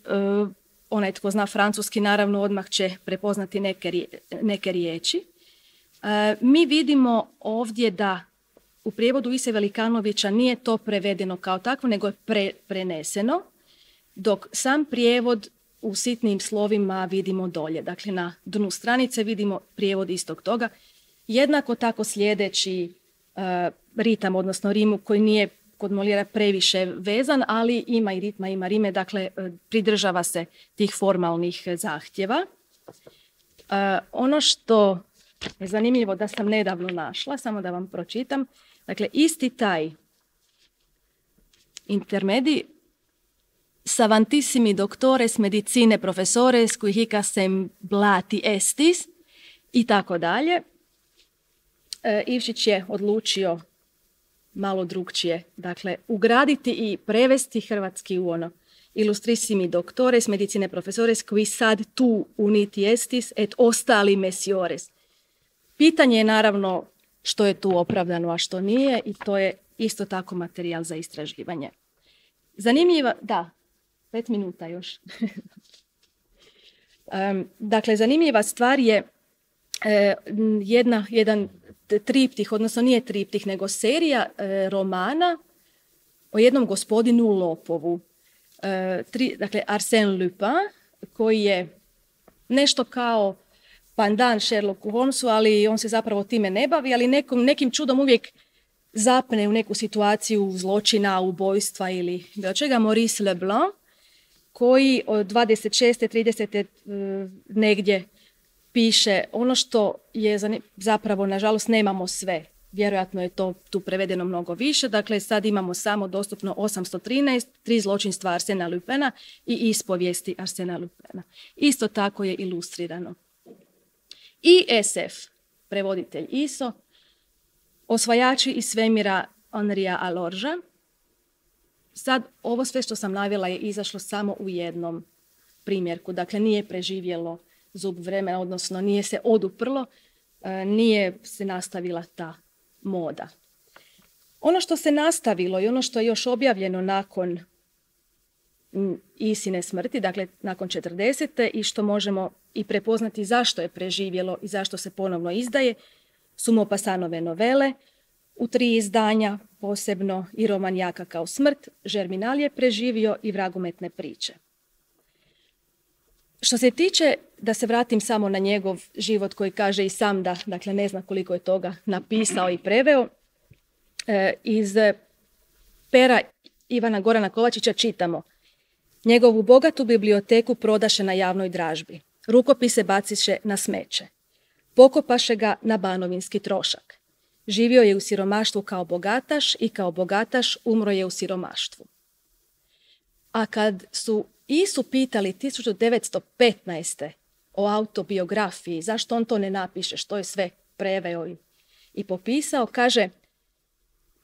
onaj tko zna francuski naravno odmah će prepoznati neke riječi. Mi vidimo ovdje da u prijevodu Ise Velikanovića nije to prevedeno kao takvo, nego je preneseno, dok sam prijevod u sitnim slovima vidimo dolje. Dakle, na dnu stranice vidimo prijevod istog toga. Jednako tako slijedeći ritam, odnosno rimu koji nije kod Molijera previše vezan, ali ima i ritma, ima rime, dakle pridržava se tih formalnih zahtjeva. Ono što je zanimljivo da sam nedavno našla, samo da vam pročitam, dakle isti taj intermedi savantissimi doctores medicine professores qui hic assemblati estis i tako dalje. Ivčić je odlučio malo drugčije, dakle, ugraditi i prevesti hrvatski u ono illustrissimi doctores medicine professores qui sad tu uniti estis et ostali mesiores. Pitanje je naravno što je tu opravdano, a što nije, i to je isto tako materijal za istraživanje. Zanimljiva, da, 5 minuta još. Dakle, zanimljiva stvar je jedan triptih, odnosno nije triptih, nego serija romana o jednom gospodinu lopovu. Dakle, Arsène Lupin, koji je nešto kao pandan Sherlocku Holmesu, ali on se zapravo time ne bavi, ali nekim čudom uvijek zapne u neku situaciju zločina, ubojstva ili bilo čega. Maurice Leblanc, koji od 26. 30. Negdje piše ono što je zapravo, nažalost, nemamo sve. Vjerojatno je to tu prevedeno mnogo više. Dakle, sad imamo samo dostupno 813, 3 zločinstva Arsena Lupena i ispovijesti Arsena Lupena. Isto tako je ilustrirano. I SF, prevoditelj ISO, Osvajači iz svemira Henria Alorja. Sad, ovo sve što sam navela je izašlo samo u jednom primjerku. Dakle, nije preživjelo zub vremena, odnosno nije se oduprlo, nije se nastavila ta moda. Ono što se nastavilo i ono što je još objavljeno nakon Isine smrti, dakle nakon 40. i što možemo i prepoznati zašto je preživjelo i zašto se ponovno izdaje, su Maupassantove novele, u 3 izdanja, posebno i roman Jaka kao smrt, Žerminal je preživio i Vragometne priče. Što se tiče, da se vratim samo na njegov život koji kaže i sam da, dakle, ne zna koliko je toga napisao i preveo, iz pera Ivana Gorana Kovačića čitamo: njegovu bogatu biblioteku prodaše na javnoj dražbi, rukopise baciše na smeće, pokopaše ga na banovinski trošak. Živio je u siromaštvu kao bogataš i kao bogataš umro je u siromaštvu. A kad su Isu pitali 1915. o autobiografiji, zašto on to ne napiše, što je sve preveo i popisao, kaže: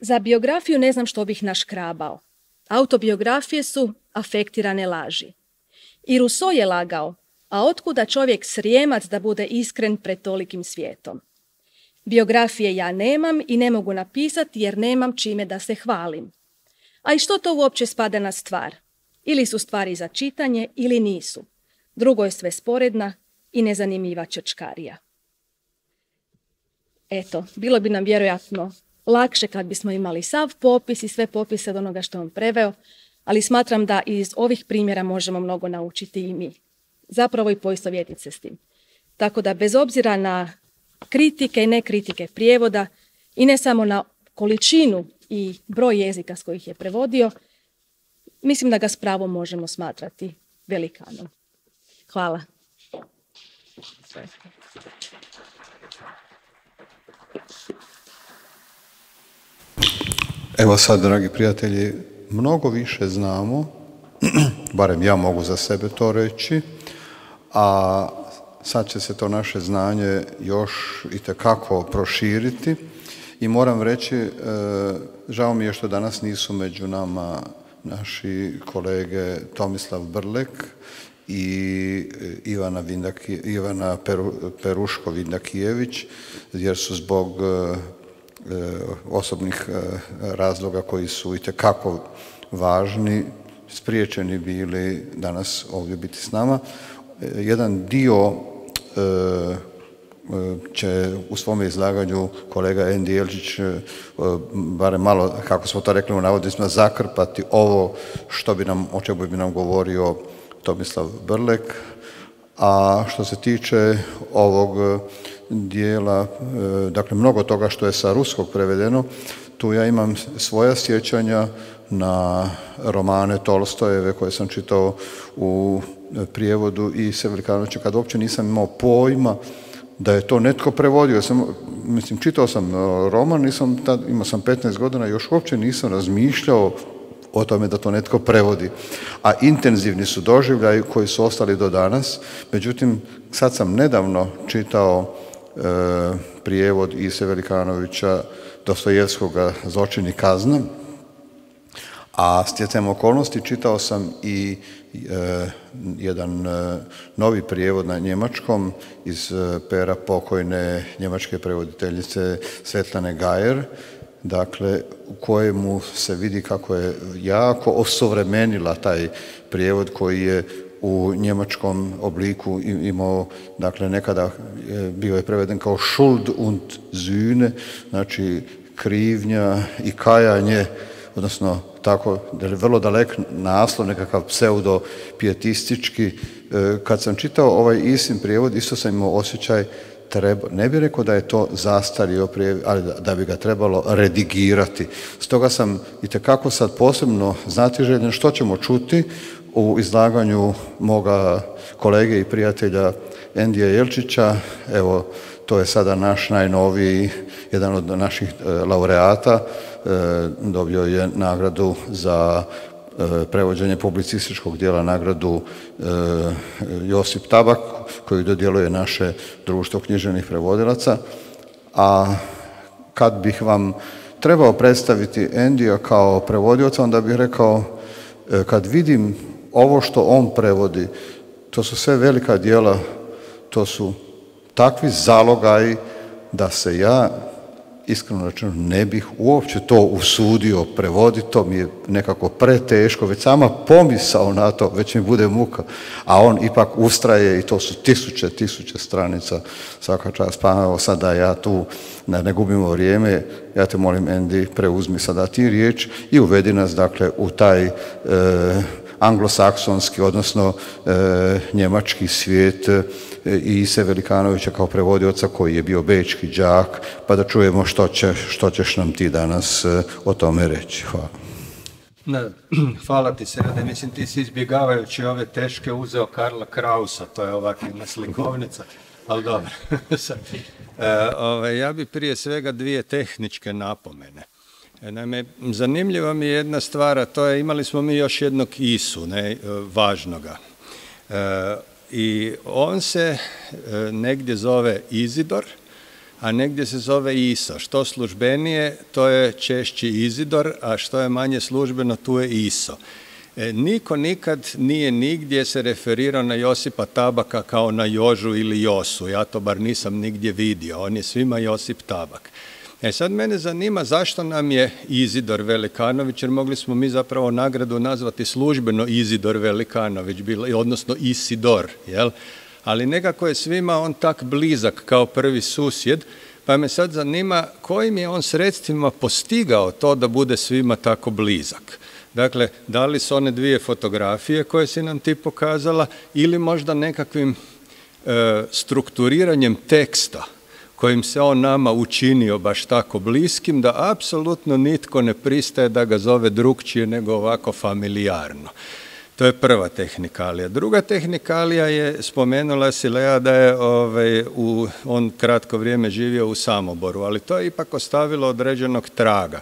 za biografiju ne znam što bih naškrabao. Autobiografije su afektirane laži. I Rousseau je lagao, a otkuda čovjek Srijemac da bude iskren pred tolikim svijetom? Biografije ja nemam i ne mogu napisati jer nemam čime da se hvalim. A i što to uopće spada na stvar? Ili su stvari za čitanje ili nisu. Drugo je sve sporedna i nezanimljiva čečkarija. Eto, bilo bi nam vjerojatno lakše kad bismo imali sav popis i sve popise od onoga što on preveo, ali smatram da iz ovih primjera možemo mnogo naučiti i mi. Zapravo i poistovjetiti se s tim. Tako da bez obzira na kritike i nekritike prijevoda i ne samo na količinu i broj jezika s kojih je prevodio, mislim da ga s pravom možemo smatrati velikanom. Hvala. Evo sad, dragi prijatelji, mnogo više znamo, barem ja mogu za sebe to reći, a sad će se to naše znanje još itekako proširiti i moram reći, žao mi je što danas nisu među nama naši kolege Tomislav Brlek i Ivana Peruško-Vindakijević, jer su zbog osobnih razloga koji su itekako važni spriječeni bili danas ovdje biti s nama. Jedan dio će u svome izlaganju kolega Andy Jelčić barem malo, kako smo to rekli u navodnicima, zakrpati ovo o čemu bi nam govorio Tomislav Brlek. A što se tiče ovog dijela, dakle mnogo toga što je sa ruskog prevedeno, tu ja imam svoja sjećanja na romane Tolstojeve koje sam čitao u prijevodu i Sevelikanovića, kad uopće nisam imao pojma da je to netko prevodio. Čitao sam roman, imao sam 15 godina, još uopće nisam razmišljao o tome da to netko prevodi. A intenzivni su doživljaji koji su ostali do danas. Međutim, sad sam nedavno čitao prijevod Ise Velikanovića Dostojevskoga Zločin i kazna, a stjecajem okolnosti čitao sam i jedan novi prijevod na njemačkom iz pera pokojne njemačke prevoditeljice Svetlane Gajer, dakle u kojemu se vidi kako je jako osuvremenila taj prijevod koji je u njemačkom obliku imao, dakle nekada bio je preveden kao Schuld und Sühne, znači krivnja i kajanje, odnosno tako, vrlo dalek naslov, nekakav pseudo-pijetistički. Kad sam čitao ovaj Isin prijevod, isto sam imao osjećaj, ne bih rekao da je to zastario prijevod, ali da bi ga trebalo redigirati. Stoga sam itekako sad posebno znatiželjen što ćemo čuti u izlaganju moga kolege i prijatelja Endija Jelčića. Evo, to je sada naš najnoviji, jedan od naših laureata, dobio je nagradu za prevođenje publicističkog dijela, nagradu Josip Tabak, koju dodjeluje naše društvo književnih prevodilaca. A kad bih vam trebao predstaviti Endija kao prevodioca, onda bih rekao, kad vidim ovo što on prevodi, to su sve velika djela, to su takvi zalogaji da se ja iskreno rečeno ne bih uopće to usudio prevoditi, to mi je nekako preteško, već sama pomisao na to, već mi bude muka, a on ipak ustraje i to su tisuće stranica svaka čast. Pa evo sada ja tu ne gubimo vrijeme, ja te molim Andy, preuzmi sada ti riječ i uvedi nas dakle u taj anglosaksonski, odnosno njemački svijet Ise Velikanovića kao prevodioca koji je bio bečki đak, pa da čujemo što ćeš nam ti danas o tome reći. Hvala. Hvala ti, Serde. Mislim, ti si izbjegavajući ove teške uzeo Karla Krausa, to je ovakva slikovnica, ali dobro. Ja bi prije svega dvije tehničke napomene. Naime, zanimljiva mi je jedna stvar, a to je imali smo mi još jednog Isu, važnoga. I on se negdje zove Izidor, a negdje se zove Iso. Što službenije, to je češći Izidor, a što je manje službeno, tu je Iso. Niko nikad nije nigdje se referirao na Josipa Tabaka kao na Jožu ili Josu. Ja to bar nisam nigdje vidio. On je svima Josip Tabak. Sad mene zanima zašto nam je Izidor Velikanović, jer mogli smo mi zapravo nagradu nazvati službeno Izidor Velikanović, odnosno Isidor, jel? Ali nekako je svima on tak blizak kao prvi susjed, pa me sad zanima kojim je on sredstvima postigao to da bude svima tako blizak. Dakle, da li su one dvije fotografije koje si nam ti pokazala ili možda nekakvim strukturiranjem teksta kojim se on nama učinio baš tako bliskim da apsolutno nitko ne pristaje da ga zove drukčije nego ovako familijarno. To je prva tehnikalija. Druga tehnikalija je, spomenula si Lea da je on kratko vrijeme živio u Samoboru, ali to je ipak ostavilo određenog traga.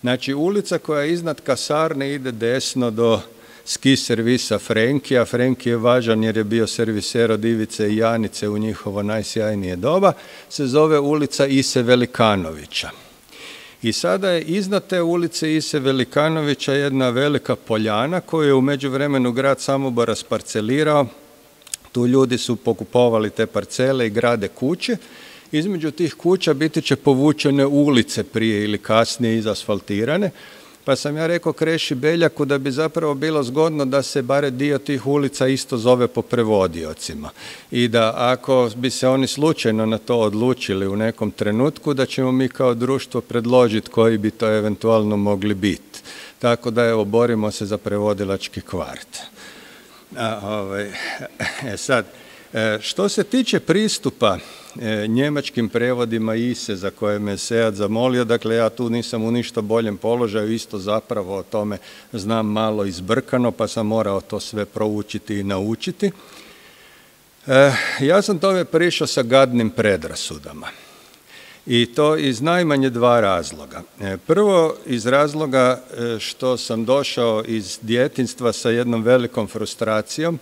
Znači, ulica koja je iznad kasarne ide desno do ski servisa Frenki, a Frenki je važan jer je bio serviser od Ivice i Janice u njihovo najsjajnije doba, se zove ulica Ise Velikanovića. I sada je iznad te ulice Ise Velikanovića jedna velika poljana koju je u međuvremenu grad Samobor rasparcelirao. Tu ljudi su pokupovali te parcele i grade kuće. Između tih kuća biti će povučene ulice prije ili kasnije izasfaltirane. Pa sam ja rekao Kreši Beljaku da bi zapravo bilo zgodno da se bare dio tih ulica isto zove po prevodiocima. I da ako bi se oni slučajno na to odlučili u nekom trenutku, da ćemo mi kao društvo predložiti koji bi to eventualno mogli biti. Tako da evo, borimo se za prevodilački kvart. Sad, što se tiče pristupa njemačkim prevodima Ise za koje me Sead zamolio, dakle ja tu nisam u ništa boljem položaju, isto zapravo o tome znam malo izbrkano, pa sam morao to sve proučiti i naučiti. Ja sam tome prišao sa gadnim predrasudama. I to iz najmanje dva razloga. Prvo iz razloga što sam došao iz djetinjstva sa jednom velikom frustracijom,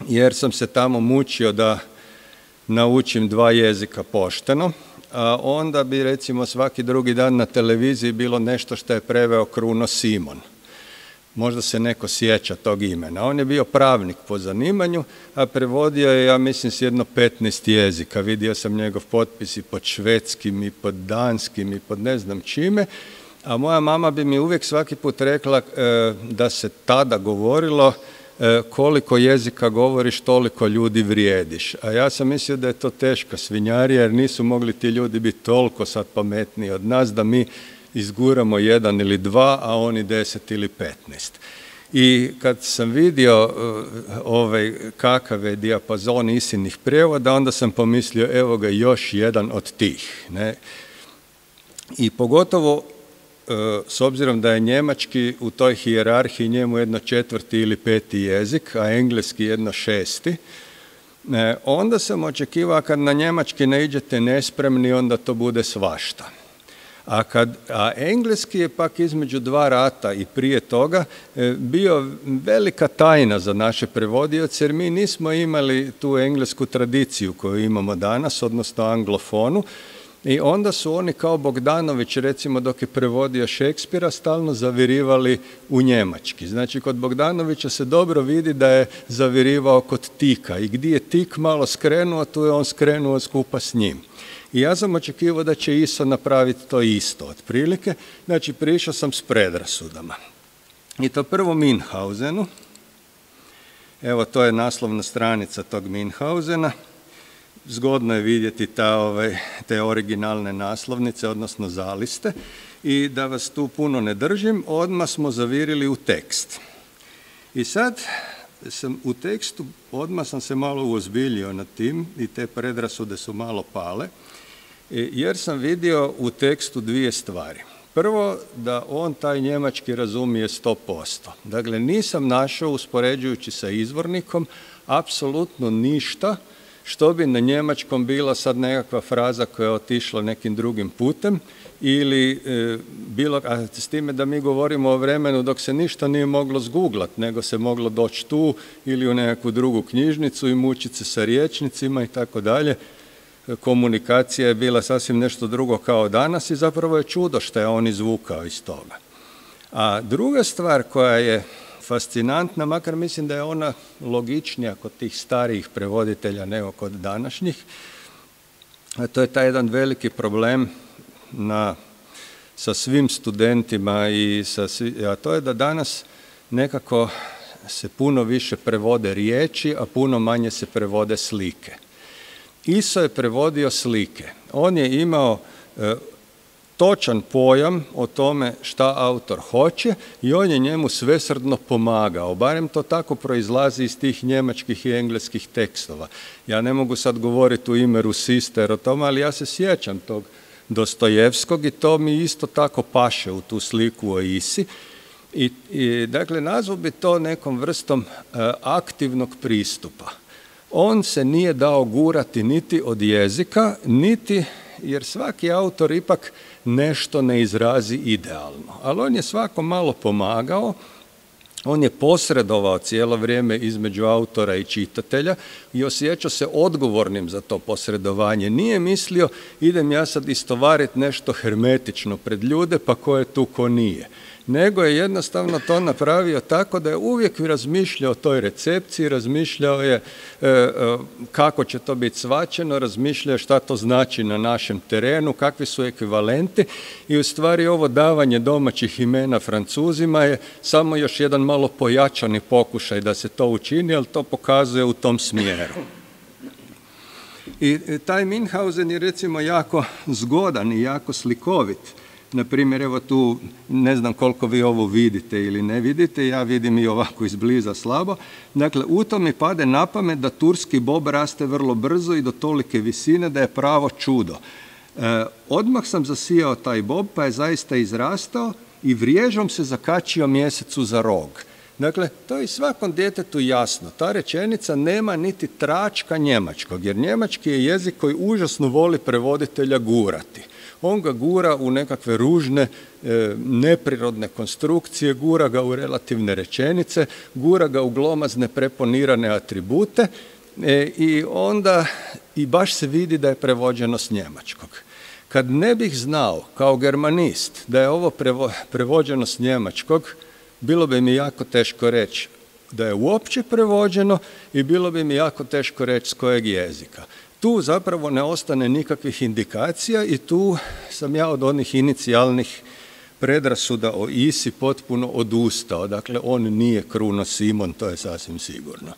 jer sam se tamo mučio da naučim dva jezika pošteno, a onda bi recimo svaki drugi dan na televiziji bilo nešto što je preveo Kruno Simon. Možda se neko sjeća tog imena. On je bio pravnik po zanimanju, a prevodio je, ja mislim, s jedno 15 jezika. Vidio sam njegov potpis i pod švedskim, i pod danskim, i pod ne znam čime. A moja mama bi mi uvijek svaki put rekla da se tada govorilo koliko jezika govoriš, toliko ljudi vrijediš. A ja sam mislio da je to teška svinjarija, jer nisu mogli ti ljudi biti toliko sad pametniji od nas, da mi izguramo jedan ili dva, a oni 10 ili 15. I kad sam vidio kakav je dijapazon Isinih prijevoda, onda sam pomislio, evo ga još jedan od tih. Ne? I pogotovo s obzirom da je njemački u toj hijerarhiji njemu jedno 4. ili 5. jezik, a engleski jedno 6. Onda sam očekivao kad na njemački ne iđete nespremni, onda to bude svašta. A engleski je pak između dva rata i prije toga bio velika tajna za naše prevodioce, jer mi nismo imali tu englesku tradiciju koju imamo danas, odnosno anglofonu. I onda su oni kao Bogdanović, recimo dok je prevodio Šekspira, stalno zavirivali u njemački. Znači kod Bogdanovića se dobro vidi da je zavirivao kod tika i gdje je tik malo skrenuo, tu je on skrenuo skupa s njim. I ja sam očekivao da će ISO napraviti to isto otprilike. Znači, prišao sam s predrasudama. I to prvo Münchhausenu. Evo, to je naslovna stranica tog Münchhausena. Zgodno je vidjeti te originalne naslovnice, odnosno zaliste. I da vas tu puno ne držim, odmah smo zavirili u tekst. I sad sam u tekstu, odmah sam se malo uozbiljio nad tim i te predrasude su malo pale, jer sam vidio u tekstu dvije stvari. Prvo, da on taj njemački razumije 100%. Dakle, nisam našao, uspoređujući sa izvornikom, apsolutno ništa što bi na njemačkom bila sad nekakva fraza koja je otišla nekim drugim putem ili a s time da mi govorimo o vremenu dok se ništa nije moglo zguglat, nego se moglo doći tu ili u nekakvu drugu knjižnicu i mučiti se sa rječnicima i tako dalje. Komunikacija je bila sasvim nešto drugo kao danas i zapravo je čudo što je on izvukao iz toga. A druga stvar koja je fascinantna, makar mislim da je ona logičnija kod tih starijih prevoditelja nego kod današnjih, a to je taj jedan veliki problem sa svim studentima a to je da danas nekako se puno više prevode riječi, a puno manje se prevode slike. ISO je prevodio slike. On je imao točan pojam o tome šta autor hoće i on je njemu svesrdno pomagao. Barem to tako proizlazi iz tih njemačkih i engleskih tekstova. Ja ne mogu sad govoriti u ime Rusister o tome, ali ja se sjećam tog Dostojevskog i to mi isto tako paše u tu sliku o Isi. Dakle, nazvao bi to nekom vrstom aktivnog pristupa. On se nije dao gurati niti od jezika, niti jer svaki autor ipak nešto ne izrazi idealno. Ali on je svako malo pomagao, on je posredovao cijelo vrijeme između autora i čitatelja i osjećao se odgovornim za to posredovanje. Nije mislio idem ja sad istovariti nešto hermetično pred ljude pa ko je tu ko nije. Nego je jednostavno to napravio tako da je uvijek razmišljao o toj recepciji, razmišljao je kako će to biti shvaćeno, razmišljao je šta to znači na našem terenu, kakvi su ekvivalenti i u stvari ovo davanje domaćih imena Francuzima je samo još jedan malo pojačani pokušaj da se to učini, ali to pokazuje u tom smjeru. I taj Münchhausen je recimo jako zgodan i jako slikovit. Naprimjer, evo tu, ne znam koliko vi ovo vidite ili ne vidite, ja vidim i ovako izbliza slabo. Dakle, u to mi pade na pamet da turski bob raste vrlo brzo i do tolike visine da je pravo čudo. Odmah sam zasijao taj bob, pa je zaista izrastao i vriježom se zakačio mjesecu za rog. Dakle, to je svakom djetetu jasno. Ta rečenica nema niti tračka njemačkog, jer njemački je jezik koji užasno voli prevoditelja gurati. On ga gura u nekakve ružne, neprirodne konstrukcije, gura ga u relativne rečenice, gura ga u glomazne preponirane atribute i onda i baš se vidi da je prevođeno s njemačkog. Kad ne bih znao kao germanist da je ovo prevođeno s njemačkog, bilo bi mi jako teško reći da je uopće prevođeno i bilo bi mi jako teško reći s kojeg jezika. Tu zapravo ne ostane nikakvih indikacija i tu sam ja od onih inicijalnih predrasuda o Isi potpuno odustao. Dakle, on nije Kruno Simon, to je sasvim sigurno.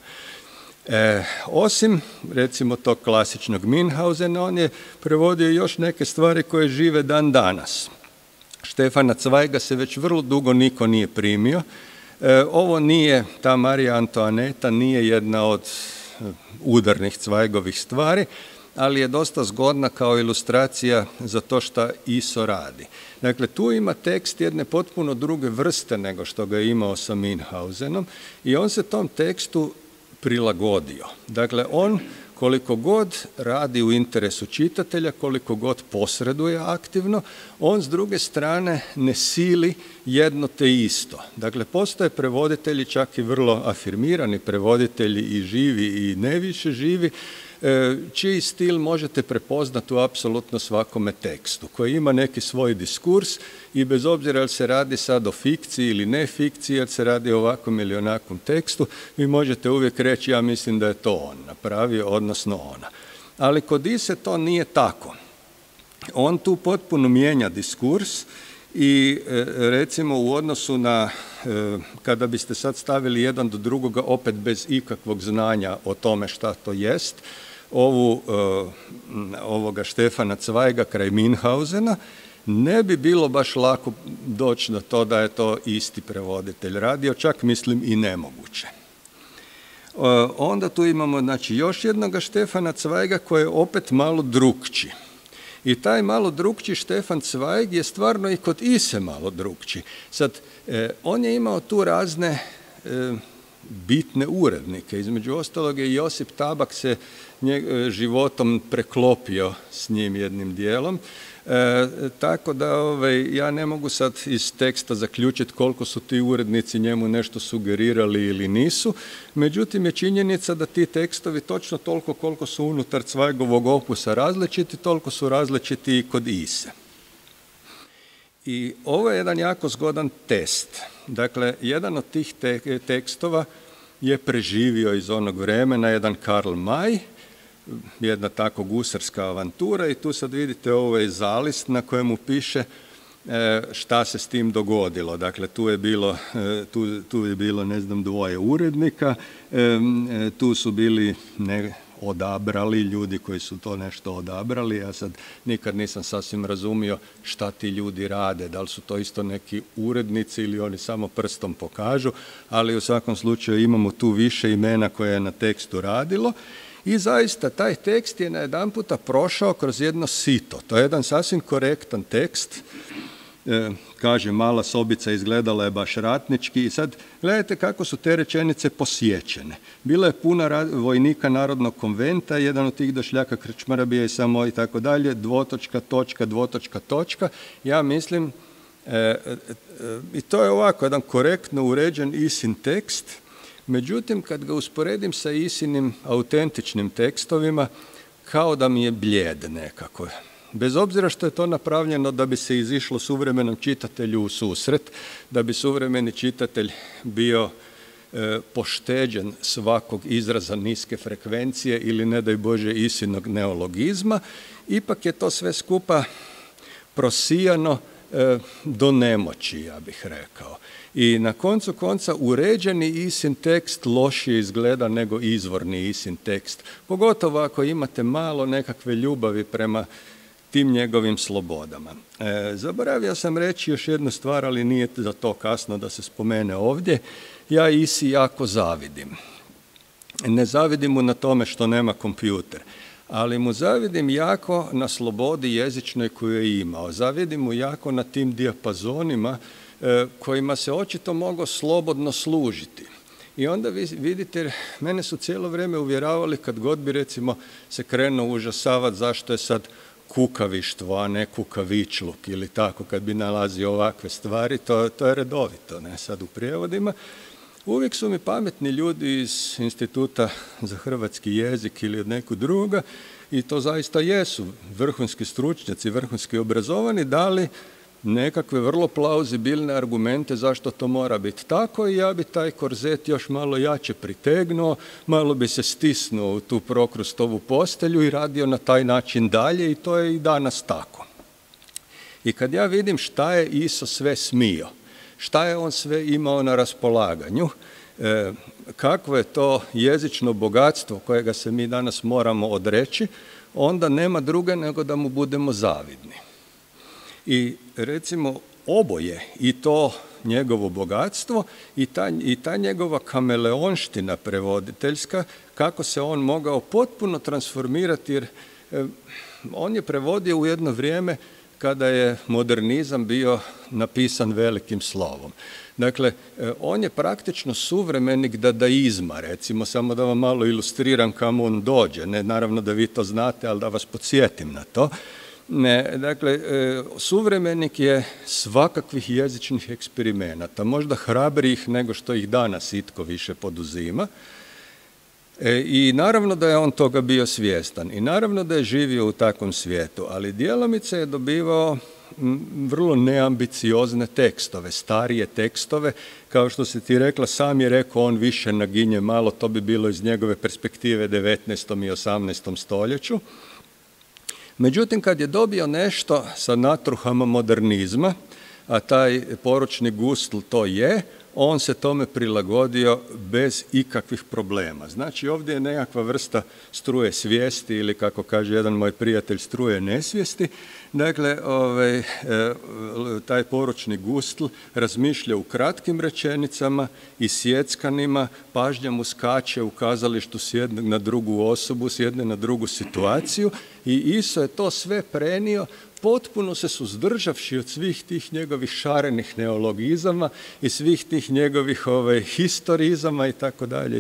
Osim, recimo, tog klasičnog Münchhausena, on je prevodio još neke stvari koje žive dan danas. Štefana Cvajga se već vrlo dugo niko nije primio. Ovo nije, ta Marija Antoaneta nije jedna od udarnih Cvajgovih stvari, ali je dosta zgodna kao ilustracija za to što ISO radi. Dakle, tu ima tekst jedne potpuno druge vrste nego što ga je imao sa Münchhausenom i on se tom tekstu prilagodio. Dakle, on koliko god radi u interesu čitatelja, koliko god posreduje aktivno, on s druge strane ne sili jedno te isto. Dakle, postoje prevoditelji, čak i vrlo afirmirani prevoditelji i živi i ne više živi, čiji stil možete prepoznati u apsolutno svakome tekstu, koji ima neki svoj diskurs i bez obzira jel se radi sad o fikciji ili ne fikciji, jel se radi o ovakvom ili onakvom tekstu, vi možete uvijek reći ja mislim da je to on napravio, odnosno ona. Ali kod Ise to nije tako. on tu potpuno mijenja diskurs i recimo u odnosu na, kada biste sad stavili jedan do drugoga opet bez ikakvog znanja o tome šta to jest, ovoga Štefana Cvajga kraj Minhausena, ne bi bilo baš lako doći do to da je to isti prevoditelj radio, čak mislim i nemoguće. Onda tu imamo znači, još jednoga Štefana Cvajga koji je opet malo drukči. I taj malo drukči Štefan Cvajg je stvarno i kod Ise malo drukči. Sad, on je imao tu razne bitne urednike. Između ostalog je Josip Tabak se životom preklopio s njim jednim dijelom. Tako da ja ne mogu sad iz teksta zaključiti koliko su ti urednici njemu nešto sugerirali ili nisu. Međutim je činjenica da ti tekstovi točno toliko koliko su unutar Cvajgovog opusa različiti, toliko su različiti i kod Ise. I ovo je jedan jako zgodan test. Dakle, jedan od tih tekstova je preživio iz onog vremena, jedan Karl May, jedna tako gusarska avantura i tu sad vidite ovaj zalist na kojemu piše šta se s tim dogodilo. Dakle, tu je bilo ne znam dvoje urednika, tu su bili odabrali ljudi koji su to nešto odabrali. Ja sad nikad nisam sasvim razumio šta ti ljudi rade, da li su to isto neki urednici ili oni samo prstom pokažu, ali u svakom slučaju imamo tu više imena koje je na tekstu radilo. I zaista taj tekst je najedanputa prošao kroz jedno sito. To je jedan sasvim korektan tekst. Kaže, mala sobica izgledala je baš ratnički i sad gledajte kako su te rečenice posjećene. Bila je puna vojnika Narodnog konventa, jedan od tih došljaka krčmara bio je samo i tako dalje, dvotočka, točka, dvotočka, točka. Ja mislim, i to je ovako jedan korektno uređen Isin tekst. Međutim, kad ga usporedim sa Isinim autentičnim tekstovima, kao da mi je blijed nekako. Bez obzira što je to napravljeno da bi se izišlo suvremenom čitatelju u susret, da bi suvremeni čitatelj bio pošteđen svakog izraza niske frekvencije ili ne daj Bože Isinog neologizma, ipak je to sve skupa prosijano do nemoći, ja bih rekao. I na koncu konca uređeni Isin tekst lošije izgleda nego izvorni Isin tekst. Pogotovo ako imate malo nekakve ljubavi prema tim njegovim slobodama. Zaboravio sam reći još jednu stvar, ali nije za to kasno da se spomene ovdje. Ja Isi jako zavidim. Ne zavidim mu na tome što nema kompjuter, ali mu zavidim jako na slobodi jezičnoj koju je imao. Zavidim mu jako na tim dijapazonima kojima se očito mogao slobodno služiti. I onda vi vidite, mene su cijelo vrijeme uvjeravali kad god bi recimo se krenuo užasavati zašto je sad kukavištvo, a ne kukavičluk ili tako, kad bi nalazio ovakve stvari, to je redovito, ne sad u prijevodima. Uvijek su mi pametni ljudi iz Instituta za hrvatski jezik ili od nekog druga, i to zaista jesu vrhunski stručnjaci, vrhunski obrazovani, dali nekakve vrlo plauzibilne argumente zašto to mora biti tako, i ja bi taj korzet još malo jače pritegnuo, malo bi se stisnuo u tu Prokrustovu postelju i radio na taj način dalje, i to je i danas tako. I kad ja vidim šta je Iso sve smio, šta je on sve imao na raspolaganju, kakvo je to jezično bogatstvo kojega se mi danas moramo odreći, onda nema druge nego da mu budemo zavidni. I recimo oboje, i to njegovo bogatstvo i ta njegova kameleonština prevoditeljska, kako se on mogao potpuno transformirati, jer on je prevodio u jedno vrijeme kada je modernizam bio napisan velikim slovom. Dakle, on je praktično suvremenik dadaizma, recimo, samo da vam malo ilustriram kamo on dođe. Ne, naravno da vi to znate, ali da vas podsjetim na to. Dakle, suvremenik je svakakvih jezičnih eksperimenata, možda hrabrijih nego što ih danas itko više poduzima. I naravno da je on toga bio svjestan i naravno da je živio u takvom svijetu, ali djelomice je dobivao vrlo neambiciozne tekstove, starije tekstove, kao što si ti rekla, sam je rekao, on više naginje malo, to bi bilo iz njegove perspektive 19. i 18. stoljeću. Međutim, kad je dobio nešto sa natruhama modernizma, a taj poručni Gustl to je, on se tome prilagodio bez ikakvih problema. Znači, ovdje je nekakva vrsta struje svijesti ili, kako kaže jedan moj prijatelj, struje nesvijesti. Dakle, taj poručni Gustl razmišlja u kratkim rečenicama i sjeckanima, pažnja mu skače u kazalištu s jednog na drugu osobu, s jedne na drugu situaciju i Iso je to sve prenio potpuno se suzdržavši od svih tih njegovih šarenih neologizama i svih tih njegovih historizama i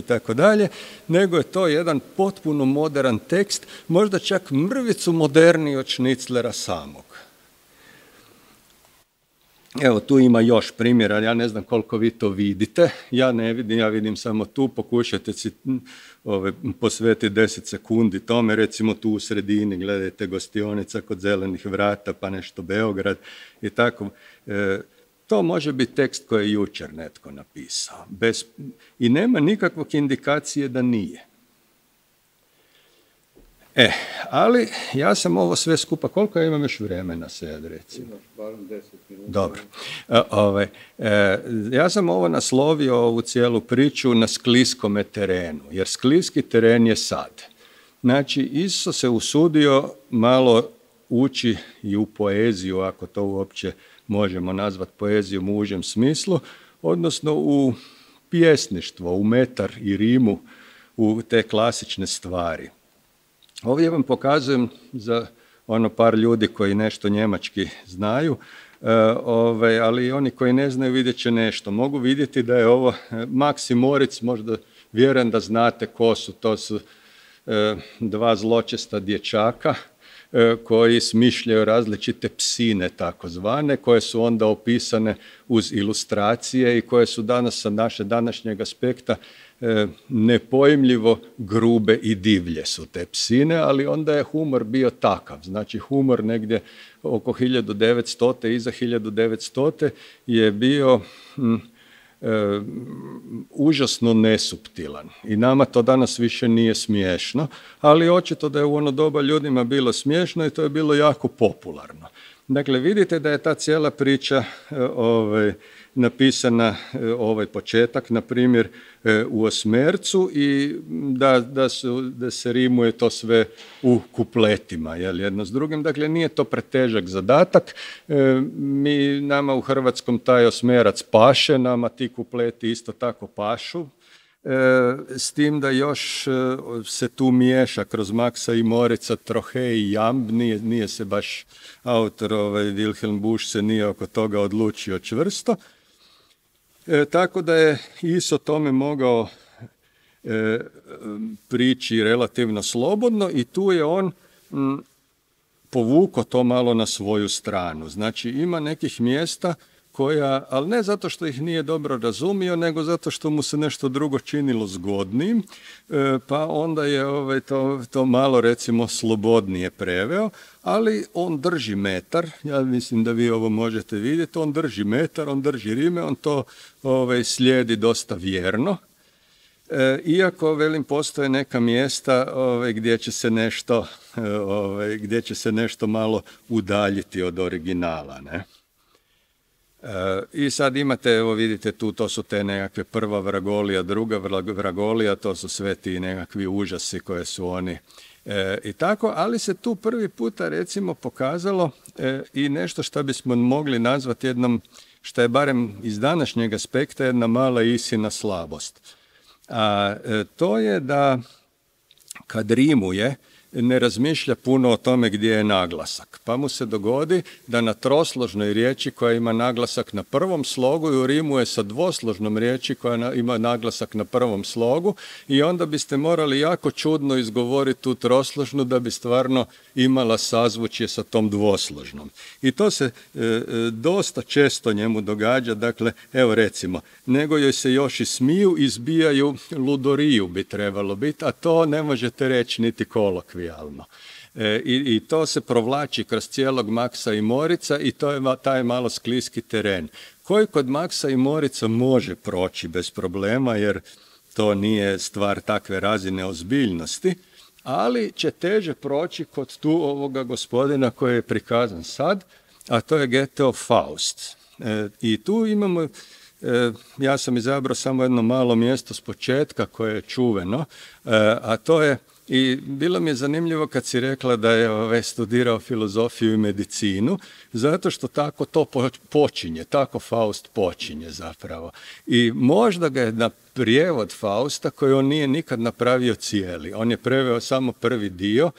tako dalje, nego je to jedan potpuno modern tekst, možda čak mrvicu moderniji od Šniclera samog. Evo, tu ima još primjera, ja ne znam koliko vi to vidite, ja ne vidim, ja vidim samo tu, pokušajte si posvetiti 10 sekundi tome, recimo tu u sredini, gledajte Gostionica kod Zelenih vrata, pa nešto Beograd i tako. To može biti tekst koji je jučer netko napisao i nema nikakvog indikacije da nije. Ali ja sam ovo sve skupa, koliko ja imam još vremena sad, recimo? Imaš barem 10 minuta. Dobro. Ja sam ovo naslovio, ovu cijelu priču, na skliskome terenu, jer skliski teren je sad. Znači, Iso se usudio malo ući i u poeziju, ako to uopće možemo nazvati poezijom u užem smislu, odnosno u pjesništvo, u metar i rimu, u te klasične stvari. Ovdje vam pokazujem za par ljudi koji nešto njemački znaju, ali oni koji ne znaju vidjet će nešto. Mogu vidjeti da je ovo Max i Moritz, možda vjerujem da znate ko su, to su dva zločesta dječaka koji smišljaju različite psine takozvane, koje su onda opisane uz ilustracije i koje su danas sa naše današnjeg aspekta nepojmljivo grube i divlje su te psine, ali onda je humor bio takav. Znači, humor negdje oko 1900. iza 1900. je bio užasno nesuptilan i nama to danas više nije smiješno, ali očito da je u ono doba ljudima bilo smiješno i to je bilo jako popularno. Dakle, vidite da je ta cijela priča napisana, ovaj početak, na primjer, u osmercu i da se rimuje to sve u kupletima, jedno s drugim. Dakle, nije to pretežak zadatak. Nama u hrvatskom taj osmerac paše, nama ti kupleti isto tako pašu. S tim da još se tu miješa kroz Maxa i Moritza trohe i jamb, nije se baš autor Wilhelm Busch se nije oko toga odlučio čvrsto. Tako da je Iso tome mogao prići relativno slobodno i tu je on povukao to malo na svoju stranu. Znači, ima nekih mjesta koja, ali ne zato što ih nije dobro razumio, nego zato što mu se nešto drugo činilo zgodnim, pa onda je to malo, recimo, slobodnije preveo, ali on drži metar, ja mislim da vi ovo možete vidjeti, on drži metar, on drži rime, on to slijedi dosta vjerno, iako, velim, postoje neka mjesta gdje će se nešto malo udaljiti od originala, ne? I sad imate, evo vidite tu, to su te nekakve prva vragolija, druga vragolija, to su sve ti nekakvi užasi koje su oni i tako, ali se tu prvi puta, recimo, pokazalo i nešto što bismo mogli nazvati jednom, što je barem iz današnjeg aspekta jedna mala Isina slabost. A to je da kad rimuje, ne razmišlja puno o tome gdje je naglasak. Pa mu se dogodi da na trosložnoj riječi koja ima naglasak na prvom slogu i u rimu je sa dvosložnom riječi koja ima naglasak na prvom slogu i onda biste morali jako čudno izgovoriti tu trosložnu da bi stvarno imala sazvučje sa tom dvosložnom. I to se dosta često njemu događa, dakle, evo recimo, nego joj se još i smiju, izbijaju, ludoriju bi trebalo biti, a to ne možete reći niti kolokvijalno. I to se provlači kroz cijelog Maxa i Moritza i to je taj malo skliski teren koji kod Maxa i Moritza može proći bez problema jer to nije stvar takve razine ozbiljnosti, ali će teže proći kod tu ovoga gospodina koji je prikazan sad, a to je Goetheov Faust. I tu imamo, ja sam izabrao samo jedno malo mjesto s početka koje je čuveno, a to je, i bilo mi je zanimljivo kad si rekla da je studirao filozofiju i medicinu, zato što tako to počinje, tako Faust počinje zapravo. I možda ga je na prijevod Fausta, koji on nije nikad napravio cijeli, on je preveo samo prvi dio,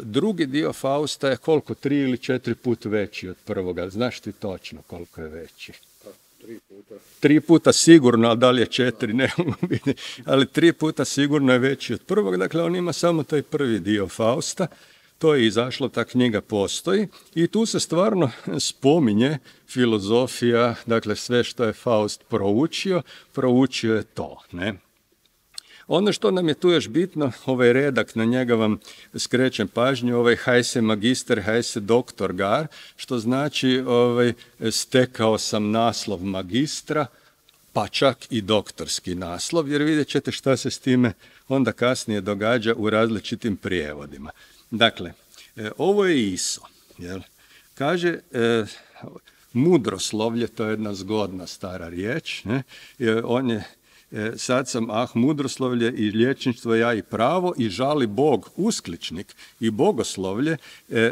drugi dio Fausta je koliko, 3 ili 4 puta veći od prvoga, znaš ti točno koliko je veći? 3 puta sigurno, ali da li je 4, ne mogu biti, ali 3 puta sigurno je veći od prvog, dakle on ima samo taj prvi dio Fausta, to je izašlo, ta knjiga postoji i tu se stvarno spominje filozofija, dakle sve što je Faust proučio je to, ne. Ono što nam je tu još bitno, ovaj redak, na njega vam skrećem pažnju, ovaj Heise magister, Heise doktorgar, što znači stekao sam naslov magistra, pa čak i doktorski naslov, jer vidjet ćete šta se s time onda kasnije događa u različitim prijevodima. Dakle, ovo je ISO. Jel? Kaže, mudroslovlje, to je jedna zgodna stara riječ, ne? On je sad sam mudroslovlje i liječništvo, ja i pravo, i žali Bog uskličnik i bogoslovlje.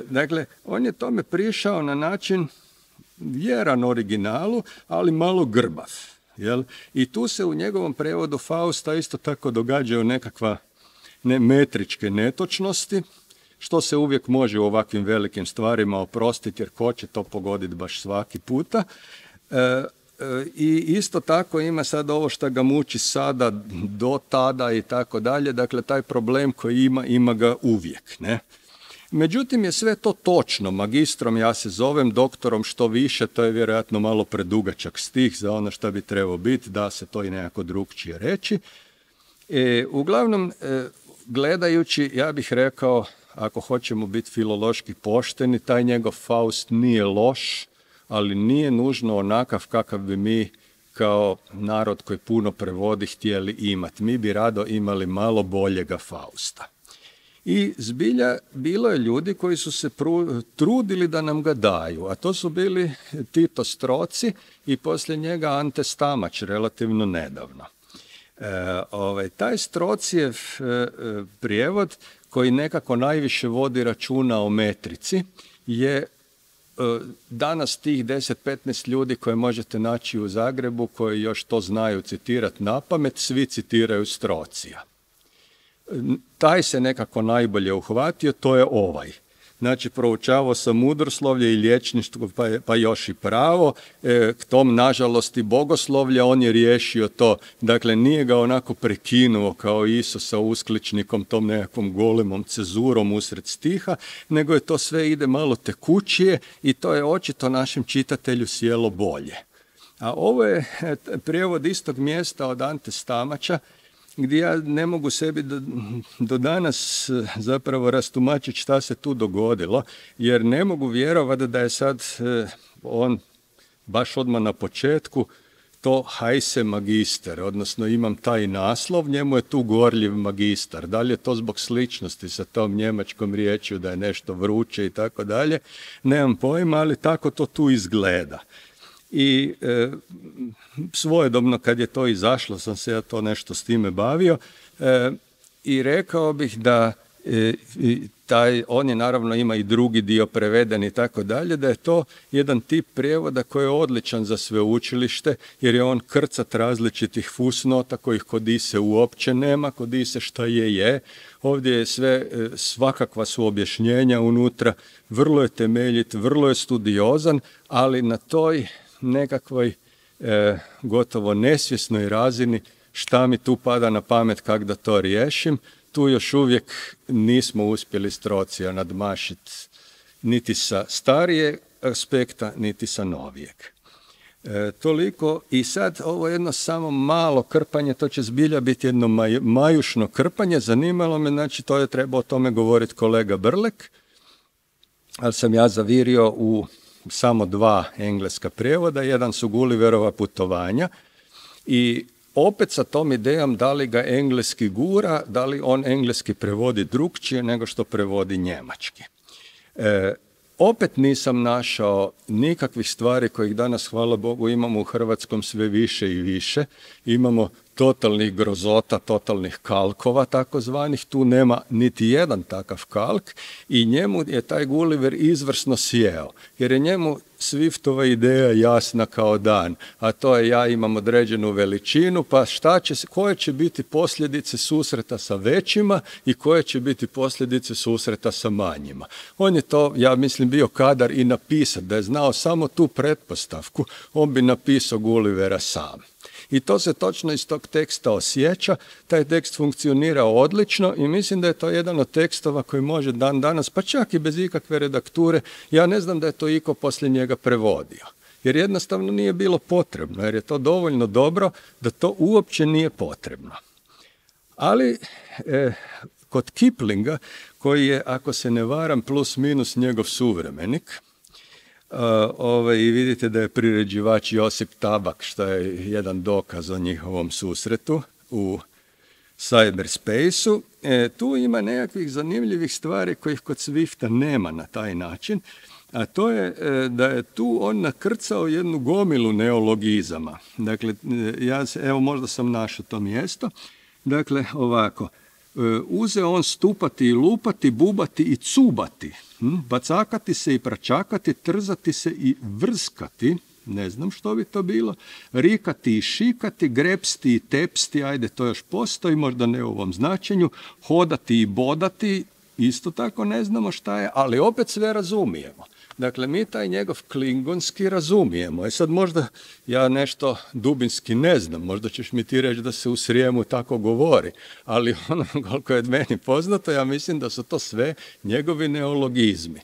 Dakle, on je tome prišao na način vjeran originalu, ali malo grbav. Jel? I tu se u njegovom prevodu Fausta isto tako događaju nekakva metričke netočnosti, što se uvijek može u ovakvim velikim stvarima oprostiti, jer ko će to pogoditi baš svaki puta. I isto tako ima sad ovo što ga muči sada, do tada i tako dalje, dakle taj problem koji ima ga uvijek, ne? Međutim je sve to točno, magistrom ja se zovem, doktorom što više, to je vjerojatno malo predugačak stih za ono što bi trebao biti, da se to i nekako drukčije reći. Uglavnom, gledajući, ja bih rekao, ako hoćemo biti filološki pošteni, taj njegov Faust nije loš, ali nije nužno onakav kakav bi mi kao narod koji puno prevodi htjeli imati. Mi bi rado imali malo boljega Fausta. I zbilja bilo je ljudi koji su se trudili da nam ga daju, a to su bili Tito Stroci i poslije njega Ante Stamač, relativno nedavno. Taj Strocijev prijevod koji nekako najviše vodi računa o metrici je danas tih 10-15 ljudi koje možete naći u Zagrebu, koji još to znaju citirati na pamet, svi citiraju Strocija. Taj se nekako najbolje uhvatio, to je ovaj. Znači, proučavao sam mudroslovlje i liječništvo, pa još i pravo. K tom, nažalost, i bogoslovlje, on je riješio to. Dakle, nije ga onako prekinuo kao Isus sa uskličnikom, tom nekakvom golemom cezurom usred stiha, nego je to sve ide malo tekućije i to je očito našem čitatelju sjelo bolje. A ovo je prijevod istog mjesta od Ante Stamača, gdje ja ne mogu sebi do danas zapravo rastumačiti šta se tu dogodilo, jer ne mogu vjerovati da je sad on baš odmah na početku to Heise magister, odnosno imam taj naslov, njemu je tu gorljiv magistar. Da li je to zbog sličnosti sa tom njemačkom riječju da je nešto vruće i tako dalje, nemam pojma, ali tako to tu izgleda. I svojedobno kad je to izašlo sam se ja to nešto s time bavio i rekao bih da on je naravno ima i drugi dio preveden i tako dalje, da je to jedan tip prijevoda koji je odličan za sveučilište jer je on krcat različitih fusnota kojih kod Ise uopće nema, kod Ise šta je. Ovdje je sve, svakakva su objašnjenja unutra, vrlo je temeljit, vrlo je studiozan, ali na toj nekakvoj gotovo nesvjesnoj razini šta mi tu pada na pamet kako da to riješim, tu još uvijek nismo uspjeli Strocija nadmašiti niti sa starijeg aspekta, niti sa novijeg. Toliko i sad ovo jedno samo malo krpanje, to će zbilja biti jedno majušno krpanje, zanimalo me, znači to je trebao o tome govoriti kolega Brlek, ali sam ja zavirio u samo 2 engleska prijevoda, jedan su Gulliverova putovanja i opet sa tom idejom da li ga engleski gura, da li on engleski prevodi drukčije nego što prevodi njemački. Opet nisam našao nikakvih stvari kojih danas, hvala Bogu, imamo u hrvatskom sve više i više. Imamo totalnih grozota, totalnih kalkova takozvanih, tu nema niti jedan takav kalk i njemu je taj Gulliver izvrsno sjeo, jer je njemu Swiftova ideja jasna kao dan, a to je ja imam određenu veličinu, pa koje će biti posljedice susreta sa većima i koje će biti posljedice susreta sa manjima. On je to, ja mislim, bio kadar i napisati, da je znao samo tu pretpostavku, on bi napisao Gullivera sam. I to se točno iz tog teksta osjeća, taj tekst funkcionira odlično i mislim da je to jedan od tekstova koji može dan danas, pa čak i bez ikakve redakture, ja ne znam da je to iko poslije njega prevodio. Jer jednostavno nije bilo potrebno, jer je to dovoljno dobro da to uopće nije potrebno. Ali kod Kiplinga, koji je, ako se ne varam, plus minus njegov suvremenik, i vidite da je priređivač Josip Tabak, što je jedan dokaz o njihovom susretu u cyberspaceu. Tu ima nekakvih zanimljivih stvari kojih kod Swifta nema na taj način, a to je da je tu on nakrcao jednu gomilu neologizama. Dakle, evo možda sam našao to mjesto. Dakle, ovako, uzeo on stupati i lupati, bubati i cubati, bacakati se i pračakati, trzati se i vrskati, ne znam što bi to bilo, rikati i šikati, grepsti i tepsti, ajde to još postoji, možda ne u ovom značenju, hodati i bodati, isto tako ne znamo šta je, ali opet sve razumijemo. Dakle, mi taj njegov klingonski razumijemo. Sad možda ja nešto dubinski ne znam, možda ćeš mi ti reći da se u Srijemu tako govori, ali ono koliko je meni poznato, ja mislim da su to sve njegovi neologizmi.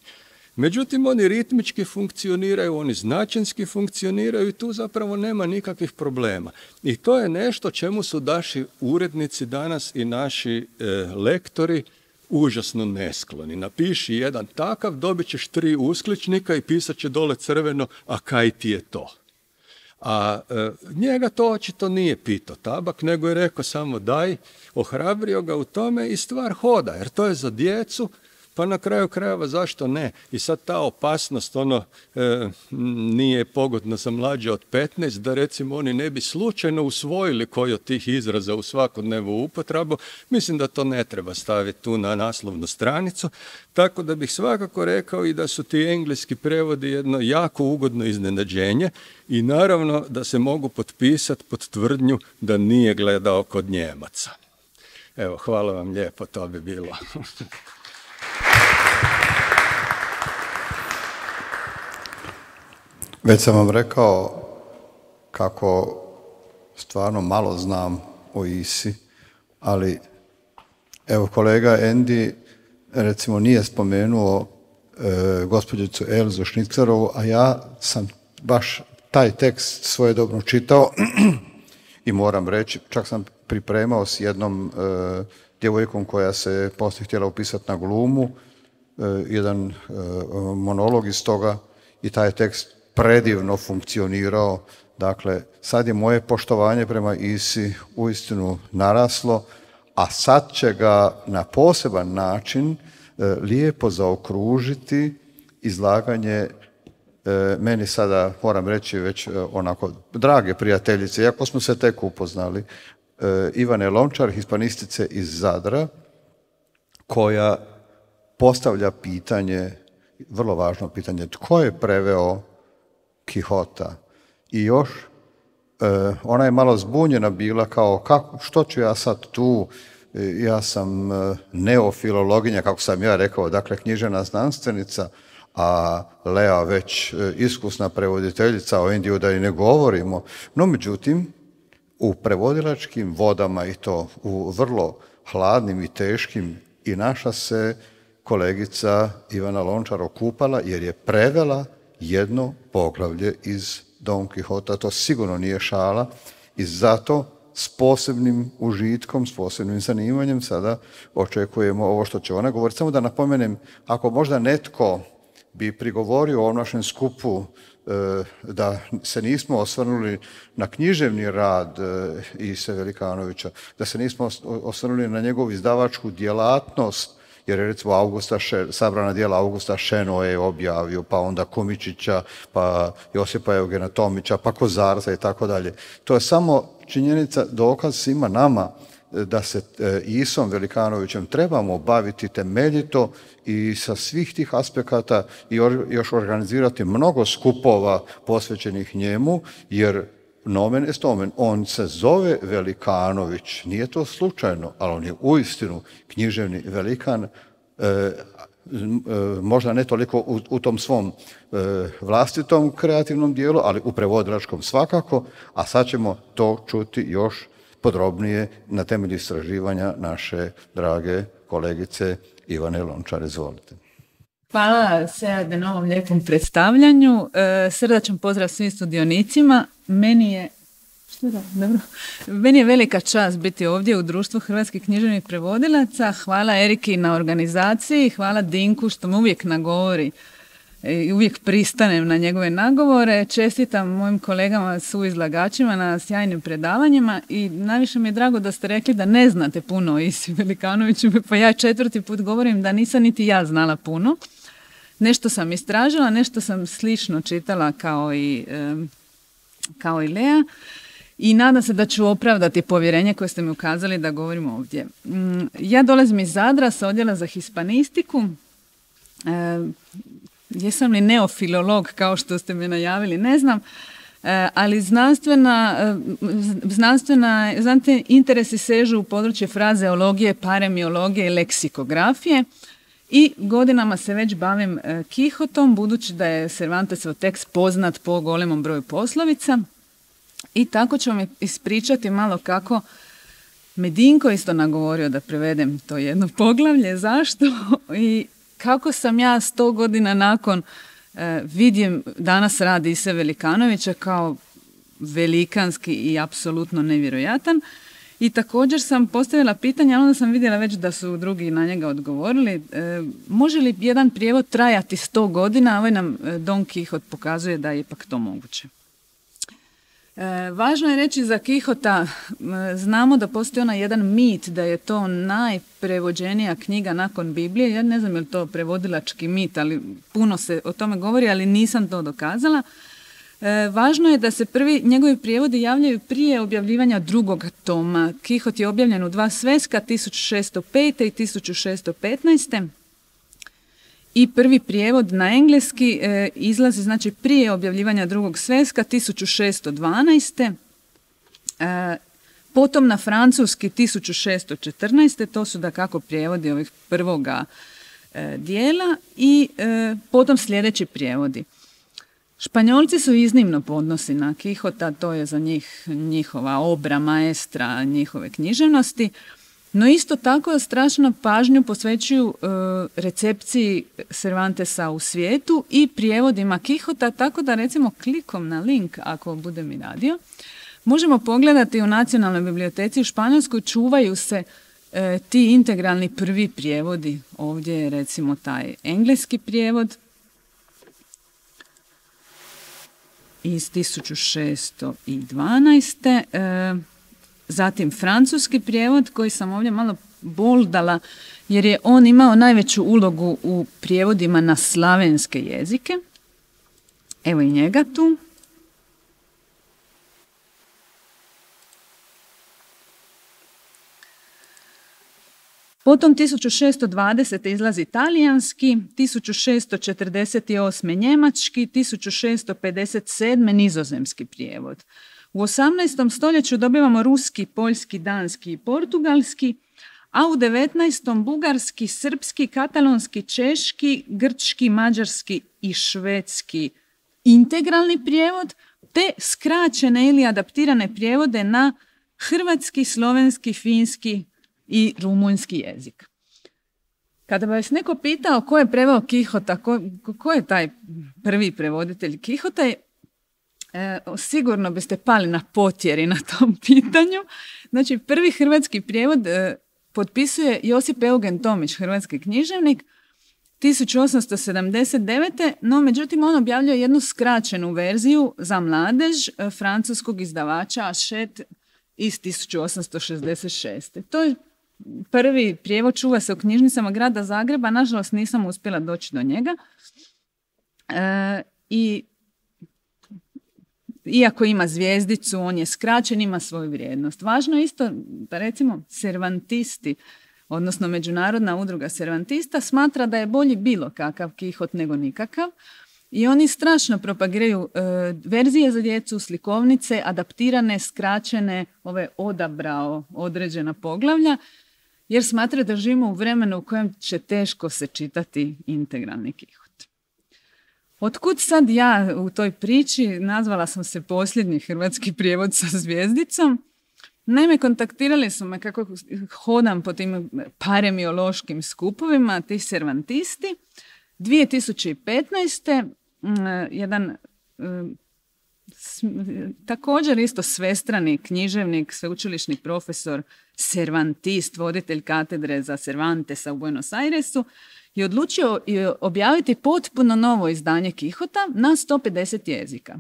Međutim, oni ritmički funkcioniraju, oni značenski funkcioniraju i tu zapravo nema nikakvih problema. I to je nešto čemu su naši urednici danas i naši lektori užasno neskloni. Napiši jedan takav, dobit ćeš 3 uskličnika i pisat će dole crveno, a kaj ti je to? A njega to očito nije pitao Tabak, nego je rekao samo daj, ohrabrio ga u tome i stvar hoda, jer to je za djecu, pa na kraju krajeva zašto ne? I sad ta opasnost nije pogodna za mlađe od 15, da recimo oni ne bi slučajno usvojili koji od tih izraza u svakodnevnu upotrebu. Mislim da to ne treba staviti tu na naslovnu stranicu, tako da bih svakako rekao i da su ti engleski prevodi jedno jako ugodno iznenađenje i naravno da se mogu potpisati pod tvrdnju da nije gledao kod Njemaca. Evo, hvala vam lijepo, to bi bilo. Već sam vam rekao kako stvarno malo znam o ISI, ali evo kolega Andy recimo nije spomenuo gospođicu Elzu Šnicerovu, a ja sam baš taj tekst svojedobno čitao i moram reći, čak sam pripremao s jednom djevojkom koja se poslije htjela upisati na glumu, jedan monolog iz toga i taj tekst predivno funkcionirao. Dakle, sad je moje poštovanje prema ISI uistinu naraslo, a sad će ga na poseban način lijepo zaokružiti izlaganje meni sada, moram reći, već onako drage prijateljice, iako smo se tek upoznali, Ivane Lončar, hispanistice iz Zadra, koja postavlja pitanje, vrlo važno pitanje, tko je preveo Kihota? I još, ona je malo zbunjena bila kao, što ću ja sad tu, ja sam neofilologinja, kako sam ja rekao, dakle književna znanstvenica, a Lea već iskusna prevoditeljica, o Endiju da i ne govorimo. No, međutim, u prevodilačkim vodama i to u vrlo hladnim i teškim i naša se kolegica Ivana Lončar okupala jer je prevela jedno poglavlje iz Don Quixota. To sigurno nije šala i zato s posebnim užitkom, s posebnim zanimanjem sada očekujemo ovo što će ona govoriti. Samo da napomenem, ako možda netko bi prigovorio o našem skupu da se nismo osvrnuli na književni rad Ise Velikanovića, da se nismo osvrnuli na njegovu izdavačku djelatnost, jer je recimo sabrana djela Augusta Šenoje objavio, pa onda Komičića, pa Josipa Eugena Tomića, pa Kozarca i tako dalje. To je samo činjenica, dokaz svima nama da se Isom Velikanovićem trebamo baviti temeljito i sa svih tih aspekata i još organizirati mnogo skupova posvećenih njemu, jer nomen est omen, on se zove Velikanović, nije to slučajno, ali on je uistinu književni velikan, možda ne toliko u tom svom vlastitom kreativnom dijelu, ali u prevodilačkom svakako, a sad ćemo to čuti još podrobnije na temelju istraživanja naše drage kolegice Ivane Lončar. Izvolite. Hvala Seade na ovom lijepom predstavljanju. Srdačan pozdrav svim sudionicima. Meni je velika čast biti ovdje u Društvu hrvatskih književnih prevodilaca. Hvala Eriki na organizaciji, hvala Dinku što me uvijek nagovori i uvijek pristanem na njegove nagovore. Čestitam mojim kolegama suizlagačima na sjajnim predavanjima i najviše mi je drago da ste rekli da ne znate puno o Isi Velikanoviću, pa ja 4. put govorim da nisam niti ja znala puno. Nešto sam istražila, nešto sam slično čitala kao i Lea i nadam se da ću opravdati povjerenje koje ste mi ukazali da govorim ovdje. Ja dolazim iz Zadra sa odjela za hispanistiku. Jesam li neofilolog kao što ste me najavili, ne znam, ali znanstveni interesi sežu u područje frazeologije, paremiologije i leksikografije i godinama se već bavim Kihotom, budući da je Cervantesov tekst poznat po golemom broju poslovica i tako ću vam ispričati malo kako me Dinko isto nagovorio da prevedem to jedno poglavlje, zašto i kako sam ja 100 godina nakon vidim danas rad Ise Velikanovića kao velikanski i apsolutno nevjerojatan. I također sam postavila pitanje, onda sam vidjela već da su drugi na njega odgovorili. Može li jedan prijevod trajati 100 godina? Ovaj nam Don Quixote pokazuje da je ipak to moguće. Važno je reći za Quixota, znamo da postoji onaj jedan mit da je to najprevođenija knjiga nakon Biblije. Ja ne znam je li to prevodilački mit, ali puno se o tome govori, ali nisam to dokazala. Važno je da se njegovi prijevodi javljaju prije objavljivanja drugog toma. Quixote je objavljen u 2 sveska, 1605. i 1615. I prvi prijevod na engleski izlazi znači prije objavljivanja drugog sveska 1612. Potom na francuski 1614. To su dakako prijevodi ovih prvoga dijela i potom sljedeći prijevodi. Španjolci su iznimno podnosni na Quixota, to je za njih njihova obra maestra njihove književnosti. No isto tako strašno pažnju posvećuju recepciji Cervantesa u svijetu i prijevodima Quixota, tako da recimo klikom na link, ako bude mi radio, možemo pogledati u Nacionalnoj biblioteci u Španjolskoj čuvaju se ti integralni prvi prijevodi. Ovdje je recimo taj engleski prijevod iz 1612. Zatim francuski prijevod koji sam ovdje malo boldala jer je on imao najveću ulogu u prijevodima na slavenske jezike. Evo i njega tu. Potom 1620. izlazi talijanski, 1648. njemački, 1657. nizozemski prijevod. U 18. stoljeću dobivamo ruski, poljski, danski i portugalski, a u 19. bugarski, srpski, katalonski, češki, grčki, mađarski i švedski integralni prijevod, te skraćene ili adaptirane prijevode na hrvatski, slovenski, finski i rumunjski jezik. Kada bi vas neko pitao ko je preveo Quixota, ko je taj prvi prevoditelj Quixota, sigurno biste pali na potjeri na tom pitanju. Znači, prvi hrvatski prijevod potpisuje Josip Eugen Tomić, hrvatski književnik, 1879. No, međutim, on objavljuje jednu skraćenu verziju za mladež francuskog izdavača Hachette iz 1866. To je prvi prijevod, čuva se u knjižnicama grada Zagreba, nažalost nisam uspjela doći do njega. I iako ima zvjezdicu, on je skraćen, ima svoju vrijednost. Važno je isto da recimo Cervantisti, odnosno Međunarodna udruga Cervantista, smatra da je bolji bilo kakav Kihot nego nikakav i oni strašno propagiraju verzije za djecu, slikovnice, adaptirane, skraćene, odabrao određena poglavlja, jer smatraju da živimo u vremenu u kojem će teško se čitati integralni Kihot. Otkud sad ja u toj priči? Nazvala sam se posljednji hrvatski prijevod sa zvjezdicom. Naime, kontaktirali su me kako hodam po tim paremiološkim skupovima, ti Cervantisti. 2015. jedan također isto svestrani književnik, sveučilišni profesor, Cervantist, voditelj katedre za Cervantesa u Buenos Airesu, je odlučio objaviti potpuno novo izdanje Kihota na 150 jezika.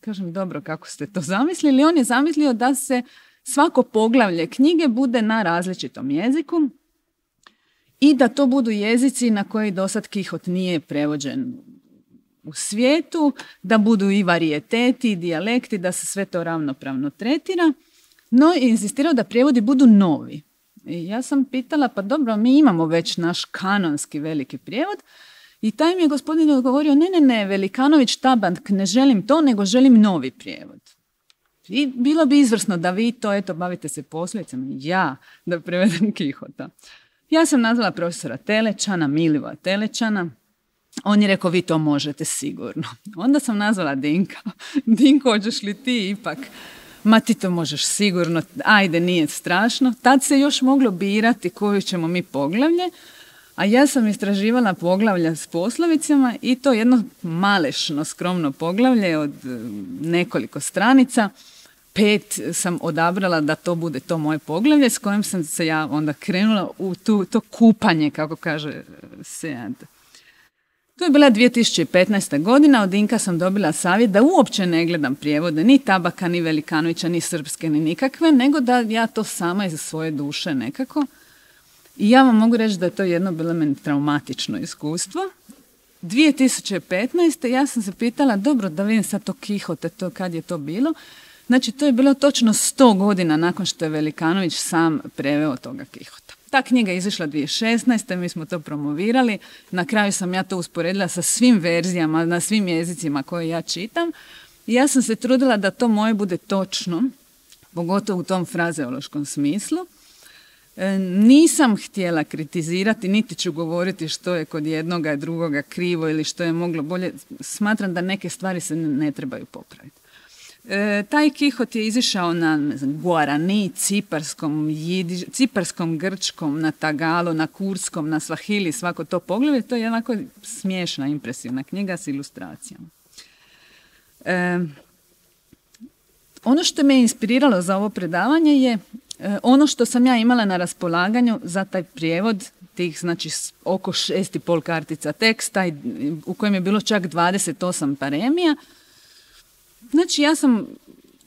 Kažem, dobro, kako ste to zamislili? On je zamislio da se svako poglavlje knjige bude na različitom jeziku i da to budu jezici na koji dosad Kihot nije prevođen u svijetu, da budu i varijeteti i dijalekti, da se sve to ravnopravno tretira, no je insistirao da prijevodi budu novi. I ja sam pitala, pa dobro, mi imamo već naš kanonski veliki prijevod i taj mi je gospodin odgovorio, ne, Velikanović, Tabank, ne želim to, nego želim novi prijevod. I bilo bi izvrsno da vi to, bavite se posljedicama, ja da prevedem Kihota. Ja sam nazvala profesora Telečana, Milivoja Telečana. On je rekao, vi to možete sigurno. Onda sam nazvala Dinka. Dinko, hoćeš li ti ipak? Ma ti to možeš sigurno, ajde, nije strašno. Tad se još moglo birati koju ćemo mi poglavlje, a ja sam istraživala poglavlja s poslovicama i to jedno malešno, skromno poglavlje od nekoliko stranica. 5 sam odabrala da to bude to moje poglavlje s kojim sam se ja onda krenula u to kupanje, kako kaže Sead. To je bila 2015. godina, od Dinka sam dobila savjet da uopće ne gledam prijevode, ni Tabaka, ni Velikanovića, ni srpske, ni nikakve, nego da ja to sama iz svoje duše nekako. I ja vam mogu reći da je to jedno bilo meni traumatično iskustvo. 2015. ja sam se pitala, dobro, da vidim sad to Kihote, to kad je to bilo. Znači, to je bilo točno 100 godina nakon što je Velikanović sam preveo toga Kihota. Ta knjiga je izašla 2016. Mi smo to promovirali. Na kraju sam ja to usporedila sa svim verzijama, na svim jezicima koje ja čitam. I ja sam se trudila da to moje bude točno, pogotovo u tom frazeološkom smislu. Nisam htjela kritizirati, niti ću govoriti što je kod jednoga i drugoga krivo ili što je moglo bolje. Smatram da neke stvari se ne trebaju popraviti. Taj Kihot je izišao na Guarani, ciparskom, grčkom, na tagalo, na kurskom, na svahili, svako to poglavlje. To je jednako smiješna, impresivna knjiga s ilustracijama. Ono što me je inspiriralo za ovo predavanje je ono što sam ja imala na raspolaganju za taj prijevod, tih znači oko 6,5 kartica teksta u kojem je bilo čak 28 paremija. Znači, ja sam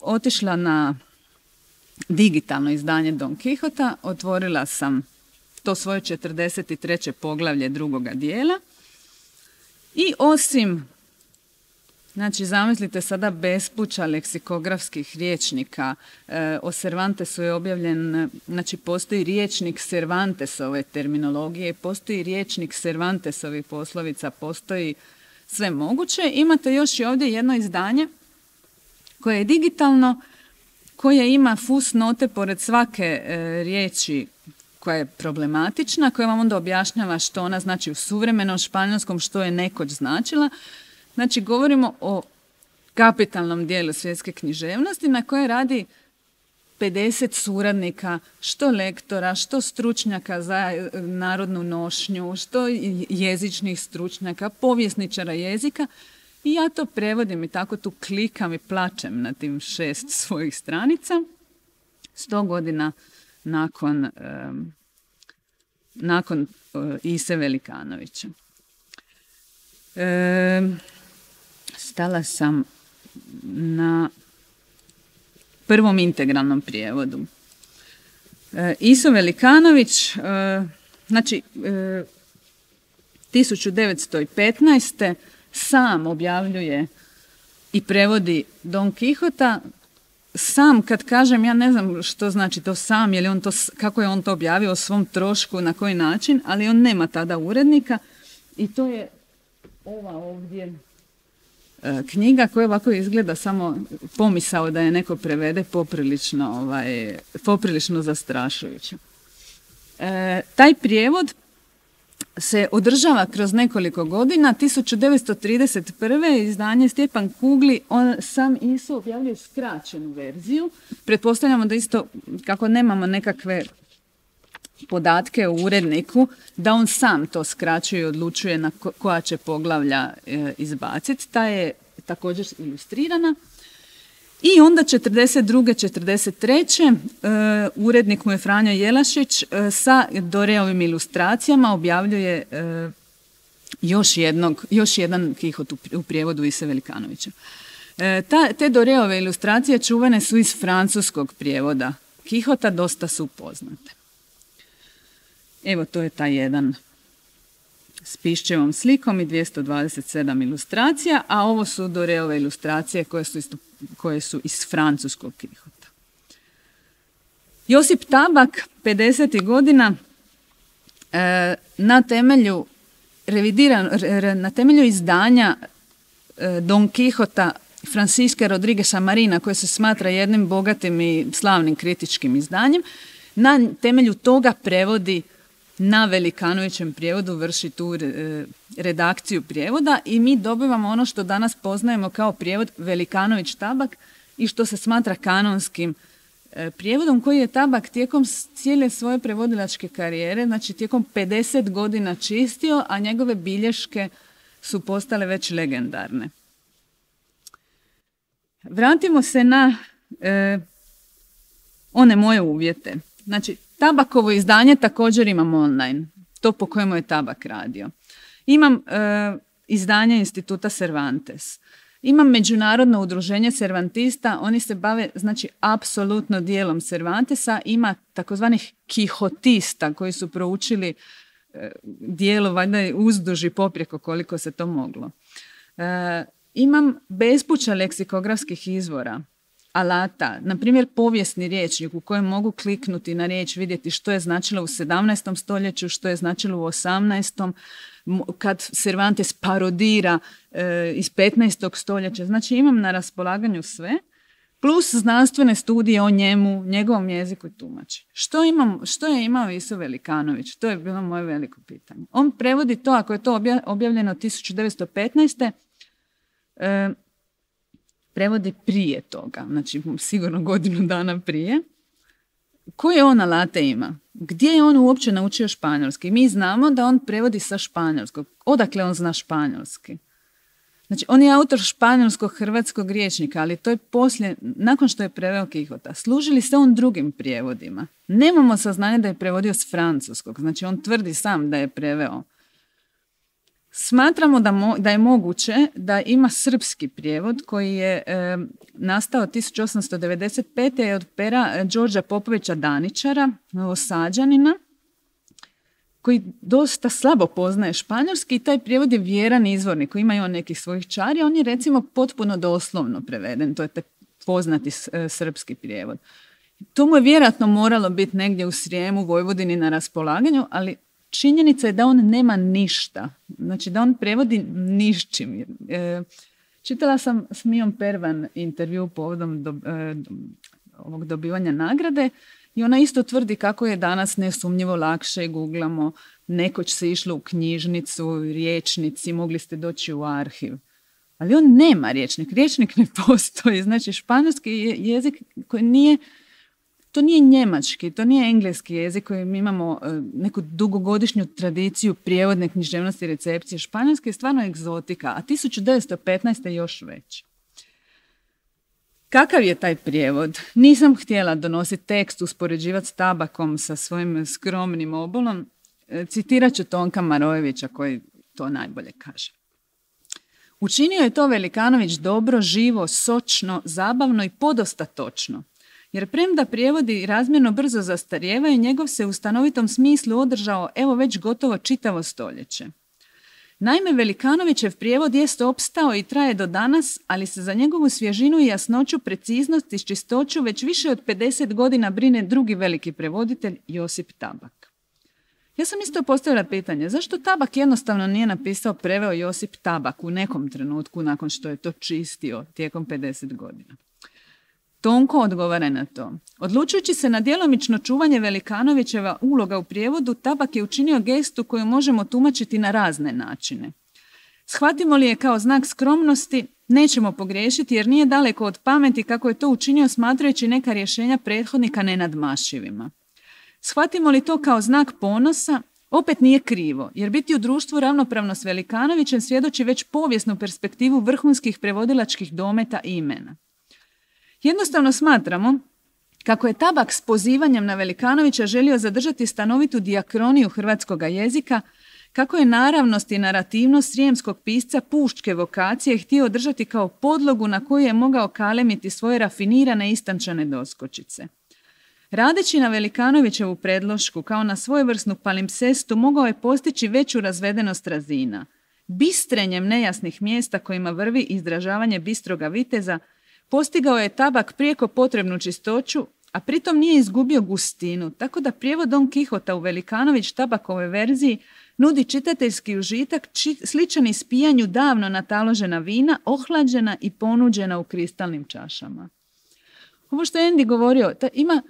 otišla na digitalno izdanje Don Kihota, otvorila sam to svoje 43. poglavlje drugoga dijela i osim, znači zamislite sada bespuća leksikografskih rječnika, o Cervantesu je objavljen, znači postoji rječnik Cervantesove terminologije, postoji rječnik Cervantesovih poslovica, postoji sve moguće. Imate još i ovdje jedno izdanje koje je digitalno, koje ima fusnote pored svake riječi koja je problematična, koja vam onda objašnjava što ona znači u suvremenom španjolskom, što je nekoć značila. Znači, govorimo o kapitalnom dijelu svjetske književnosti na koje radi 50 suradnika, što lektora, što stručnjaka za narodnu nošnju, što jezičnih stručnjaka, povjesničara jezika. I ja to prevodim i tako tu klikam i plačem na tim 6 svojih stranica. 100 godina nakon Ise Velikanovića. Stala sam na prvom integralnom prijevodu. Iso Velikanović, znači 1915. sam objavljuje i prevodi Don Quixota. Sam, kad kažem, ja ne znam što znači to sam, je li on to, kako je on to objavio o svom trošku, na koji način, ali on nema tada urednika i to je ova ovdje knjiga koja ovako izgleda samo pomisao da je neko prevede poprilično zastrašujuće. Taj prijevod se održava kroz nekoliko godina. 1931. izdanje Stjepan Kugli, on sam Iso objavljuje skraćenu verziju. Pretpostavljamo da isto, kako nemamo nekakve podatke o uredniku, da on sam to skraćuje i odlučuje na koja će poglavlja izbaciti. Ta je također ilustrirana. I onda 1942. 1943. Urednik mu je Franjo Jelašić sa Doreovim ilustracijama objavljuje još jedan Quixot u prijevodu Ise Velikanovića. Te Doreove ilustracije čuvene su iz francuskog prijevoda Quixota, dosta su poznate. Evo, to je taj jedan s pišćevom slikom i 227 ilustracija, a ovo su Doreove ilustracije koje su iz francuskog Quixota. Josip Tabak, 50. godina, na temelju izdanja Don Quixota Francisca Rodrigueza Marina, koje se smatra jednim bogatim i slavnim kritičkim izdanjem, na temelju toga prevodi na Velikanovićem prijevodu, vrši tu redakciju prijevoda i mi dobivamo ono što danas poznajemo kao prijevod Velikanović-Tabak i što se smatra kanonskim prijevodom, koji je Tabak tijekom cijele svoje prevodilačke karijere, znači tijekom 50 godina čistio, a njegove bilješke su postale već legendarne. Vratimo se na one moje uvjete. Znači, Tabakovo izdanje također imam online, to po kojemu je Tabak radio. Imam izdanje Instituta Cervantes. Imam Međunarodno udruženje Cervantista, oni se bave, znači, apsolutno dijelom Cervantesa. Ima takozvanih Quixotista koji su proučili dijelo, valjda uzduž i poprijeko koliko se to moglo. Imam bespuća leksikografskih izvora, alata, na primjer povijesni rječnik u kojem mogu kliknuti na riječ, vidjeti što je značilo u 17. stoljeću, što je značilo u 18. kad Cervantes parodira iz 15. stoljeća. Znači imam na raspolaganju sve, plus znanstvene studije o njemu, njegovom jeziku i tumači. Što je imao Iso Velikanović? To je bilo moje veliko pitanje. On prevodi to, ako je to objavljeno 1915. Prevodi prije toga, znači sigurno godinu dana prije. Koje on alate ima? Gdje je on uopće naučio španjolski? Mi znamo da on prevodi sa španjolskog. Odakle on zna španjolski? Znači, on je autor španjolsko-hrvatskog rječnika, ali to je poslije, nakon što je preveo Quixota. Služili se on drugim prijevodima. Nemamo saznanja da je prevodio s francuskog, znači on tvrdi sam da je preveo. Smatramo da je moguće da ima srpski prijevod koji je nastao 1895. od pera Đorđa Popovića Daničara, Novosađanina, koji dosta slabo poznaje španjolski i taj prijevod je vjeran izvornik koji ima i on nekih svojih čari. On je recimo potpuno doslovno preveden, to je taj poznati srpski prijevod. To mu je vjerojatno moralo biti negdje u Srijemu, Vojvodini na raspolaganju, ali činjenica je da on nema ništa. Znači da on prevodi ničim. Čitala sam s Mijom Pervan intervju povodom ovog dobivanja nagrade i ona isto tvrdi kako je danas nesumnjivo lakše, googlamo, nekoć se išlo u knjižnicu, rječnici, mogli ste doći u arhiv. Ali on nema rječnik. Rječnik ne postoji. Znači španjolski jezik koji nije, to nije njemački, to nije engleski jezik koji mi imamo neku dugogodišnju tradiciju prijevodne književnosti i recepcije. Španjolski je stvarno egzotika, a 1915. još već. Kakav je taj prijevod? Nisam htjela donositi tekst, uspoređivati s Tabakom sa svojim skromnim obolom. Citirat ću Tonka Marojevića koji to najbolje kaže. Učinio je to Velikanović dobro, živo, sočno, zabavno i podosta točno. Jer premda prijevodi razmjerno brzo zastarijevaju, njegov se u stanovitom smislu održao evo već gotovo čitavo stoljeće. Naime, Velikanovićev prijevod jest opstao i traje do danas, ali se za njegovu svježinu i jasnoću, preciznost i čistoću već više od 50 godina brine drugi veliki prevoditelj, Josip Tabak. Ja sam isto postavila pitanje, zašto Tabak jednostavno nije napisao, preveo Josip Tabak u nekom trenutku nakon što je to čistio tijekom 50 godina? Tonko odgovara na to. Odlučujući se na djelomično čuvanje Velikanovićeva uloga u prijevodu, Tabak je učinio gestu koju možemo tumačiti na razne načine. Shvatimo li je kao znak skromnosti, nećemo pogriješiti jer nije daleko od pameti kako je to učinio smatrajući neka rješenja prethodnika nenadmašivima. Shvatimo li to kao znak ponosa, opet nije krivo, jer biti u društvu ravnopravno s Velikanovićem svjedoči već povijesnu perspektivu vrhunskih prevodilačkih dometa i imena. Jednostavno smatramo kako je Tabak s pozivanjem na Velikanovića želio zadržati stanovitu dijakroniju hrvatskoga jezika, kako je naravnost i narativnost srijemskog pisca puščke vokacije htio održati kao podlogu na koju je mogao kalemiti svoje rafinirane istančane doskočice. Radeći na Velikanovićevu predlošku kao na svojevrsnu palimpsestu mogao je postići veću razvedenost razina. Bistrenjem nejasnih mjesta kojima vrvi izražavanje bistroga viteza, postigao je Tabak prijeko potrebnu čistoću, a pritom nije izgubio gustinu, tako da prijevod Don Kihota u Velikanović Tabakove verziji nudi čitateljski užitak sličan ispijanju davno nataložena vina, ohlađena i ponuđena u kristalnim čašama. Ovo što je Andy govorio, ima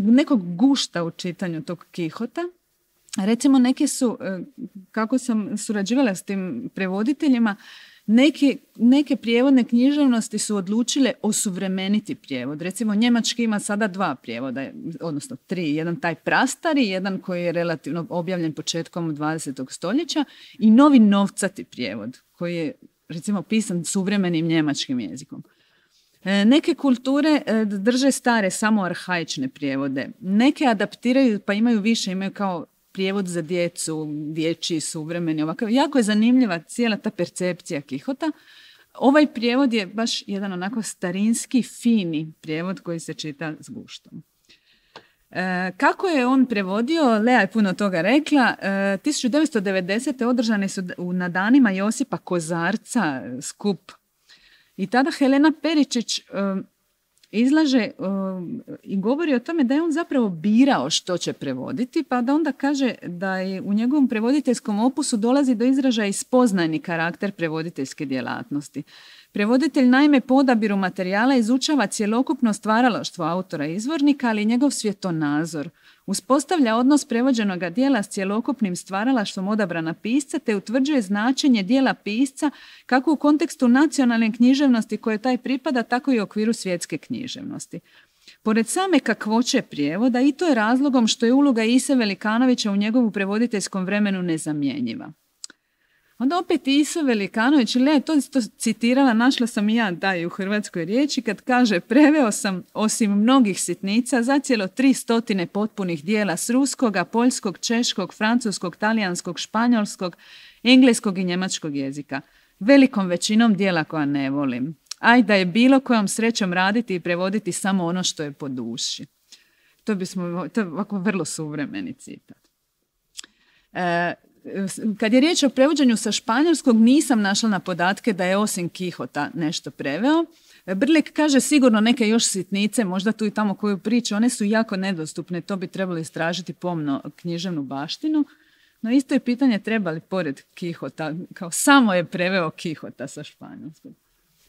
nekog gušta u čitanju tog Kihota. Recimo, neke su, kako sam surađivala s tim prevoditeljima, neke prijevodne književnosti su odlučile osuvremeniti prijevod. Recimo, njemački ima sada 2 prijevoda, odnosno 3. Jedan taj prastari, jedan koji je relativno objavljen početkom 20. stoljeća i novi novcati prijevod koji je, recimo, pisan suvremenim njemačkim jezikom. Neke kulture drže stare, samo arhaične prijevode. Neke adaptiraju pa imaju više, imaju kao prijevod za djecu, dječji, suvremeni, ovakav. Jako je zanimljiva cijela ta percepcija Kihota. Ovaj prijevod je baš jedan onako starinski, fini prijevod koji se čita s guštom. Kako je on prevodio, Lea je puno toga rekla. 1990. održane su na danima Josipa Kozarca skup. I tada Helena Peričić izlaže i govori o tome da je on zapravo birao što će prevoditi, pa da onda kaže da je u njegovom prevoditeljskom opusu dolazi do izražaja i spoznajni karakter prevoditeljske djelatnosti. Prevoditelj naime po odabiru materijala izučava cjelokupno stvaralaštvo autora izvornika, ali i njegov svjetonazor. Uspostavlja odnos prevođenoga dijela s cjelokupnim stvaralaštvom odabrana pisca te utvrđuje značenje dijela pisca kako u kontekstu nacionalne književnosti koje taj pripada, tako i u okviru svjetske književnosti. Pored same kakvoće prijevoda, i to je razlogom što je uloga Ise Velikanovića u njegovu prevoditeljskom vremenu nezamjenjiva. Onda opet Iso Velikanović, to isto citirala, našla sam i ja da je u hrvatskoj riječi, kad kaže: preveo sam osim mnogih sitnica zacijelo 300 potpunih dijela s ruskoga, poljskog, češkog, francuskog, talijanskog, španjolskog, engleskog i njemačkog jezika. Velikom većinom dijela koja ne volim. Aj da je bilo kojom srećom raditi i prevoditi samo ono što je po duši. To je ovako vrlo suvremeni citat. Kad je riječ o prevođenju sa španjolskog, nisam našla na podatke da je osim Kihota nešto preveo. Brlik kaže sigurno neke još sitnice, možda tu i tamo koju priču, one su jako nedostupne, to bi trebalo istražiti pomno književnu baštinu. No isto je pitanje treba li pored Kihota, kao samo je preveo Kihota sa španjolskog.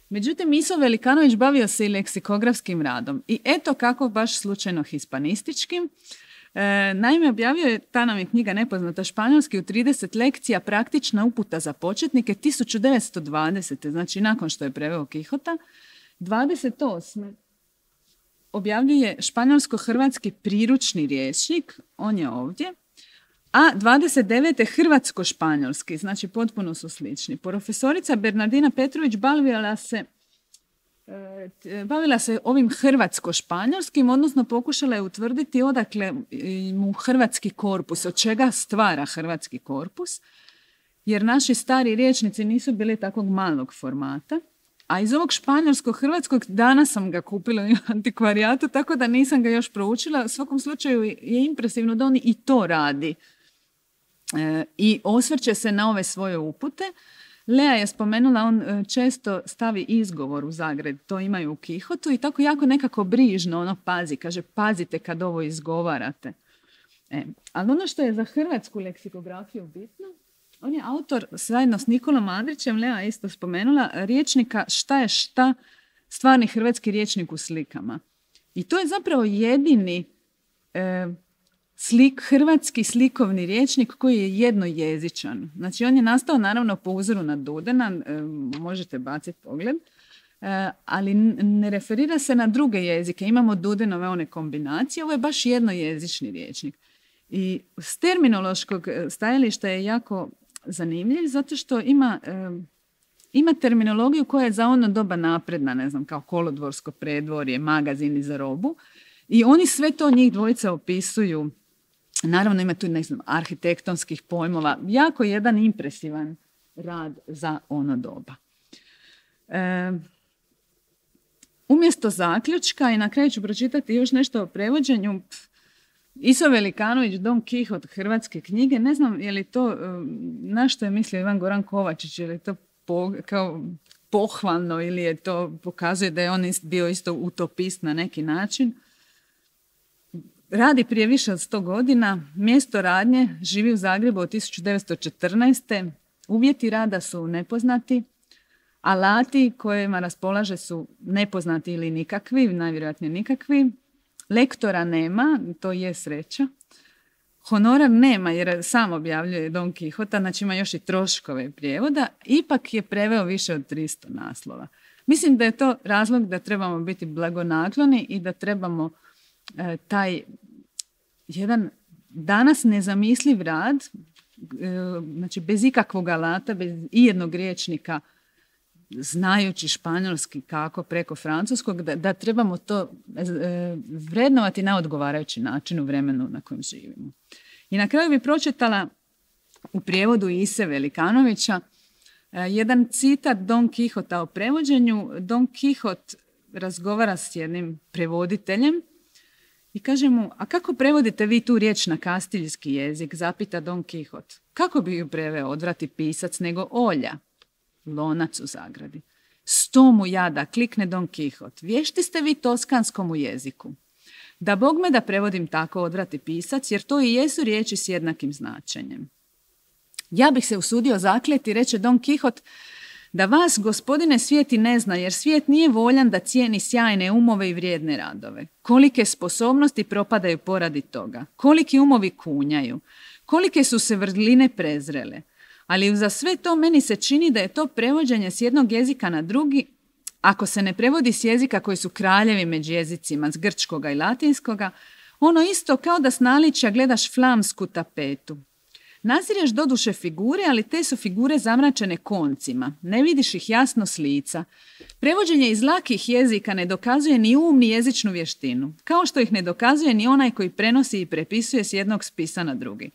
Međutim, Iso Velikanović bavio se i leksikografskim radom i eto kako baš slučajno hispanističkim. Naime, objavio je, ta nam je knjiga nepoznata, španjolski u 30 lekcija, praktična uputa za početnike 1920. Znači nakon što je preveo Kihota. 28. objavljuje španjolsko-hrvatski priručni rječnik, on je ovdje, a 29. hrvatsko-španjolski, znači potpuno su slični. Profesorica Bernardina Petrović bavila se ovim hrvatsko-španjolskim, odnosno pokušala je utvrditi odakle mu hrvatski korpus, od čega stvara hrvatski korpus. jer naši stari rječnici nisu bili takvog malog formata. A iz ovog španjolsko-hrvatskog danas sam ga kupila u antikvarijatu, tako da nisam ga još proučila. U svakom slučaju je impresivno da on i to radi. I osvrće se na ove svoje upute. Lea je spomenula, on često stavi izgovor u zagradi, to imaju u Kihotu i tako jako nekako brižno pazi, kaže pazite kad ovo izgovarate. Ali ono što je za hrvatsku leksikografiju bitno, on je autor zajedno s Nikolom Andrićem, Lea je isto spomenula, rječnika Šta je šta, stvarni hrvatski rječnik u slikama. I to je zapravo jedini hrvatski slikovni rječnik koji je jednojezičan. Znači on je nastao naravno po uzoru na Dudena, možete baciti pogled, ali ne referira se na druge jezike. Imamo Dudenove one kombinacije, ovo je baš jednojezični rječnik. I s terminološkog stajališta je jako zanimljiv zato što ima terminologiju koja je za ono doba napredna, ne znam, kao kolodvorsko predvorje, magazini za robu. I oni sve to njih dvojica opisuju. Naravno ima tu, ne znam, arhitektonskih pojmova. Jako jedan impresivan rad za ono doba. Umjesto zaključka, i na kraju ću pročitati još nešto o prevođenju, Iso Velikanović, Don Kihot, hrvatske knjige, ne znam je li to, na što je mislio Ivan Goran Kovačić, je li to kao pohvalno ili je to pokazuje da je on bio isto utopist na neki način. Radi prije više od 100 godina, mjesto radnje, živi u Zagrebu od 1914. Uvjeti rada su nepoznati, alati kojima raspolaže su nepoznati ili nikakvi, najvjerojatnije nikakvi. Lektora nema, to je sreća. Honorar nema jer sam objavljuje Don Kihota, znači ima još i troškove prijevoda. Ipak je preveo više od 300 naslova. Mislim da je to razlog da trebamo biti blagonakloni i da trebamo taj jedan danas nezamisliv rad, znači bez ikakvog alata, bez ijednog rječnika, znajući španjolski kako preko francuskog, da trebamo to vrednovati na odgovarajući način u vremenu na kojem živimo. I na kraju bih pročitala u prijevodu Ise Velikanovića jedan citat Don Kihota o prevođenju. Don Kihot razgovara s jednim prevoditeljem i kaže mu, a kako prevodite vi tu riječ na kastiljski jezik? Zapita Don Kihot. Kako bi ju preveo, odvrati pisac, nego olja? Lonac u zagradi. 100 mu jada, klikne Don Kihot. Vješti ste vi toskanskom u jeziku. Da Bog me da prevodim tako, odvrati pisac, jer to i jesu riječi s jednakim značenjem. Ja bih se usudio zakleti, reče Don Kihot, da vas, gospodine, svijet i ne zna, jer svijet nije voljan da cijeni sjajne umove i vrijedne radove. Kolike sposobnosti propadaju poradi toga, koliki umovi kunjaju, kolike su se vrline prezrele. Ali za sve to meni se čini da je to prevođenje s jednog jezika na drugi, ako se ne prevodi s jezika koji su kraljevi među jezicima, s grčkoga i latinskoga, ono isto kao da s naličja gledaš flamsku tapetu. Nazireš doduše figure, ali te su figure zamračene koncima, ne vidiš ih jasno s lica. Prevođenje iz lakih jezika ne dokazuje ni um ni jezičnu vještinu, kao što ih ne dokazuje ni onaj koji prenosi i prepisuje s jednog spisa na drugi.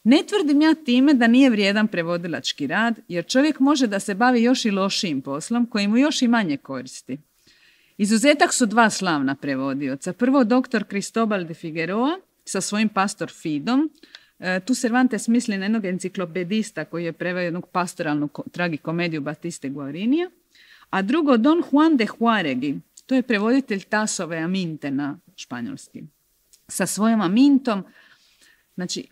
Ne tvrdim ja time da nije vrijedan prevodilački rad, jer čovjek može da se bavi još i lošijim poslom, koji mu još i manje koristi. Izuzetak su dva slavna prevodioca. Prvo dr. Cristobal de Figueroa sa svojim Pastor Fidom. Tu Cervantes misli na jednog enciklopedista koji je preveo jednu pastoralnu tragikomediju Batiste Guarinija. A drugo Don Juan de Juaregi, to je prevoditelj Tasove Aminte na španjolski. Sa svojom Amintom, znači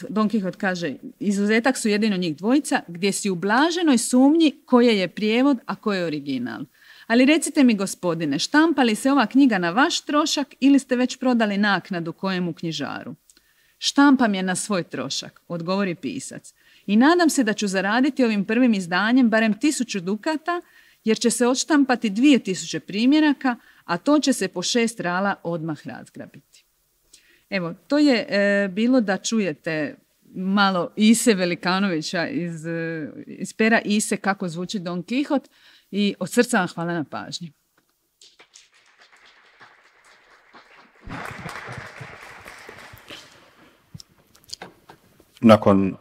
Don Kihot kaže, izuzetak su jedino njih dvojica, gdje si u blaženoj sumnji koje je prijevod, a koje je original. Ali recite mi, gospodine, štampa li se ova knjiga na vaš trošak ili ste već prodali naknadu kojemu knjižaru? Štampam je na svoj trošak, odgovori pisac. I nadam se da ću zaraditi ovim prvim izdanjem barem 1000 dukata, jer će se odštampati 2000 primjeraka, a to će se po 6 rala odmah razgrabiti. Evo, to je bilo da čujete malo Ise Velikanovića iz pera Ise kako zvuči Don Kihot i od srca vam hvala na pažnji. Nakon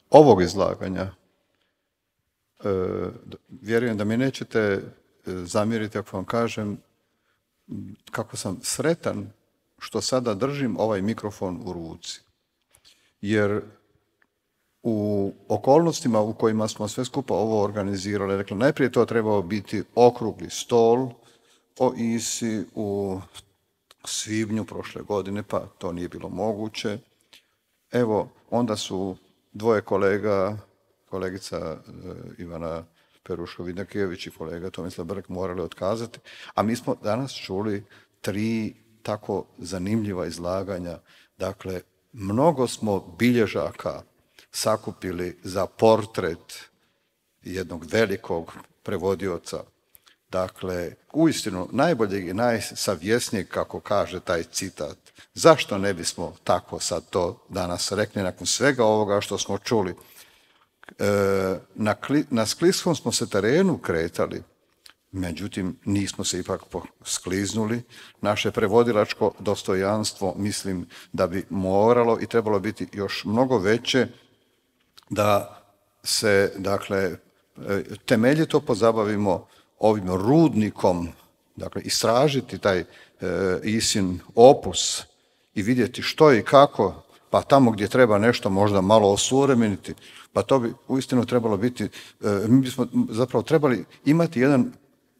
ovog izlaganja vjerujem da mi nećete zamjeriti ako vam kažem kako sam sretan što sada držim ovaj mikrofon u ruci. Jer u okolnostima u kojima smo sve skupa ovo organizirali, dakle, najprije to trebao biti okrugli stol o ISI u svibnju prošle godine, pa to nije bilo moguće. Evo, onda su dvoje kolegica Ivana Peruško-Vidakijević i kolega Tomislav Brk morali otkazati, a mi smo danas čuli 3 tako zanimljiva izlaganja. Dakle, mnogo smo bilježaka sakupili za portret jednog velikog prevodioca. Dakle, uistinu najboljeg i najsavjesnijeg, kako kaže taj citat. Zašto ne bismo tako sad to danas rekli nakon svega ovoga što smo čuli? Na skliskom smo se terenu kretali, međutim nismo se ipak skliznuli. Naše prevodilačko dostojanstvo mislim da bi moralo i trebalo biti još mnogo veće, da se, dakle, temeljito pozabavimo ovim rudnikom, dakle, istražiti taj ISIN opus i vidjeti što i kako, pa tamo gdje treba nešto možda malo osuvremeniti, pa to bi uistinu trebalo biti, mi bismo zapravo trebali imati jedan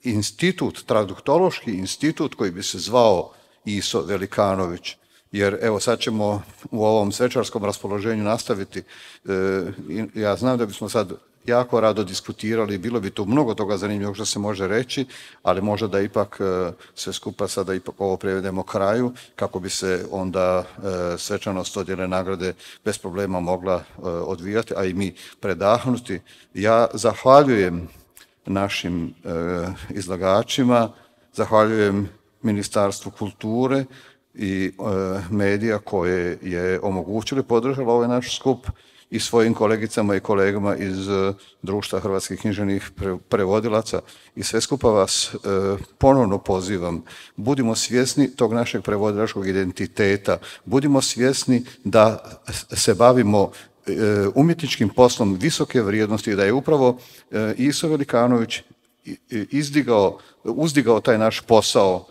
institut, traduktološki institut koji bi se zvao Iso Velikanović. Jer evo sad ćemo u ovom svečarskom raspoloženju nastaviti. Ja znam da bismo sad jako rado diskutirali, bilo bi tu mnogo toga zanimljivog što se može reći, ali možda da ipak sve skupa sada ipak ovo prevedemo kraju, kako bi se onda svečanost dodjele nagrade bez problema mogla odvijati, a i mi predahnuti. Ja zahvaljujem našim izlagačima, zahvaljujem Ministarstvu kulture i medija koje je omogućilo i podržalo ovaj naš skup i svojim kolegicama i kolegama iz Društva hrvatskih književnih prevodilaca. I sve skupa vas ponovno pozivam, budimo svjesni tog našeg prevodilačkog identiteta, budimo svjesni da se bavimo umjetničkim poslom visoke vrijednosti i da je upravo Iso Velikanović uzdigao taj naš posao,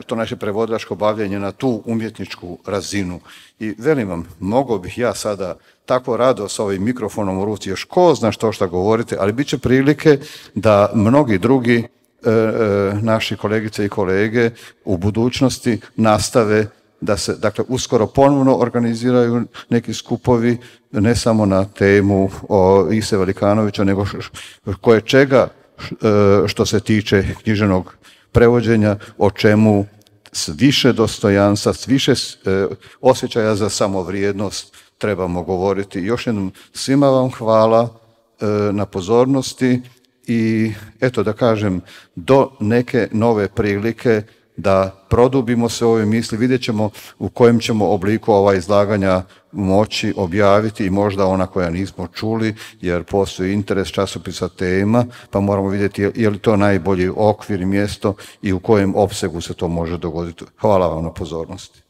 to naše prevodilačko bavljenje na tu umjetničku razinu. I velim vam, mogao bih ja sada tako rado sa ovim mikrofonom u ruci još ko zna što govorite, ali bit će prilike da mnogi drugi naši kolegice i kolege u budućnosti nastave da se, dakle, uskoro ponovno organiziraju neki skupovi, ne samo na temu o Ise Velikanovića, nego koje čega što se tiče književnog prevođenja, o čemu s više dostojanstva, s više osjećaja za samovrijednost trebamo govoriti. Još jednom svima vam hvala na pozornosti i eto da kažem, do neke nove prilike da produbimo se ove misli, vidjet ćemo u kojem ćemo obliku ova izlaganja moći objaviti i možda ona koja nismo čuli, jer postoji interes časopisa tema, pa moramo vidjeti je li to najbolji okvir i mjesto i u kojem opsegu se to može dogoditi. Hvala vam na pozornosti.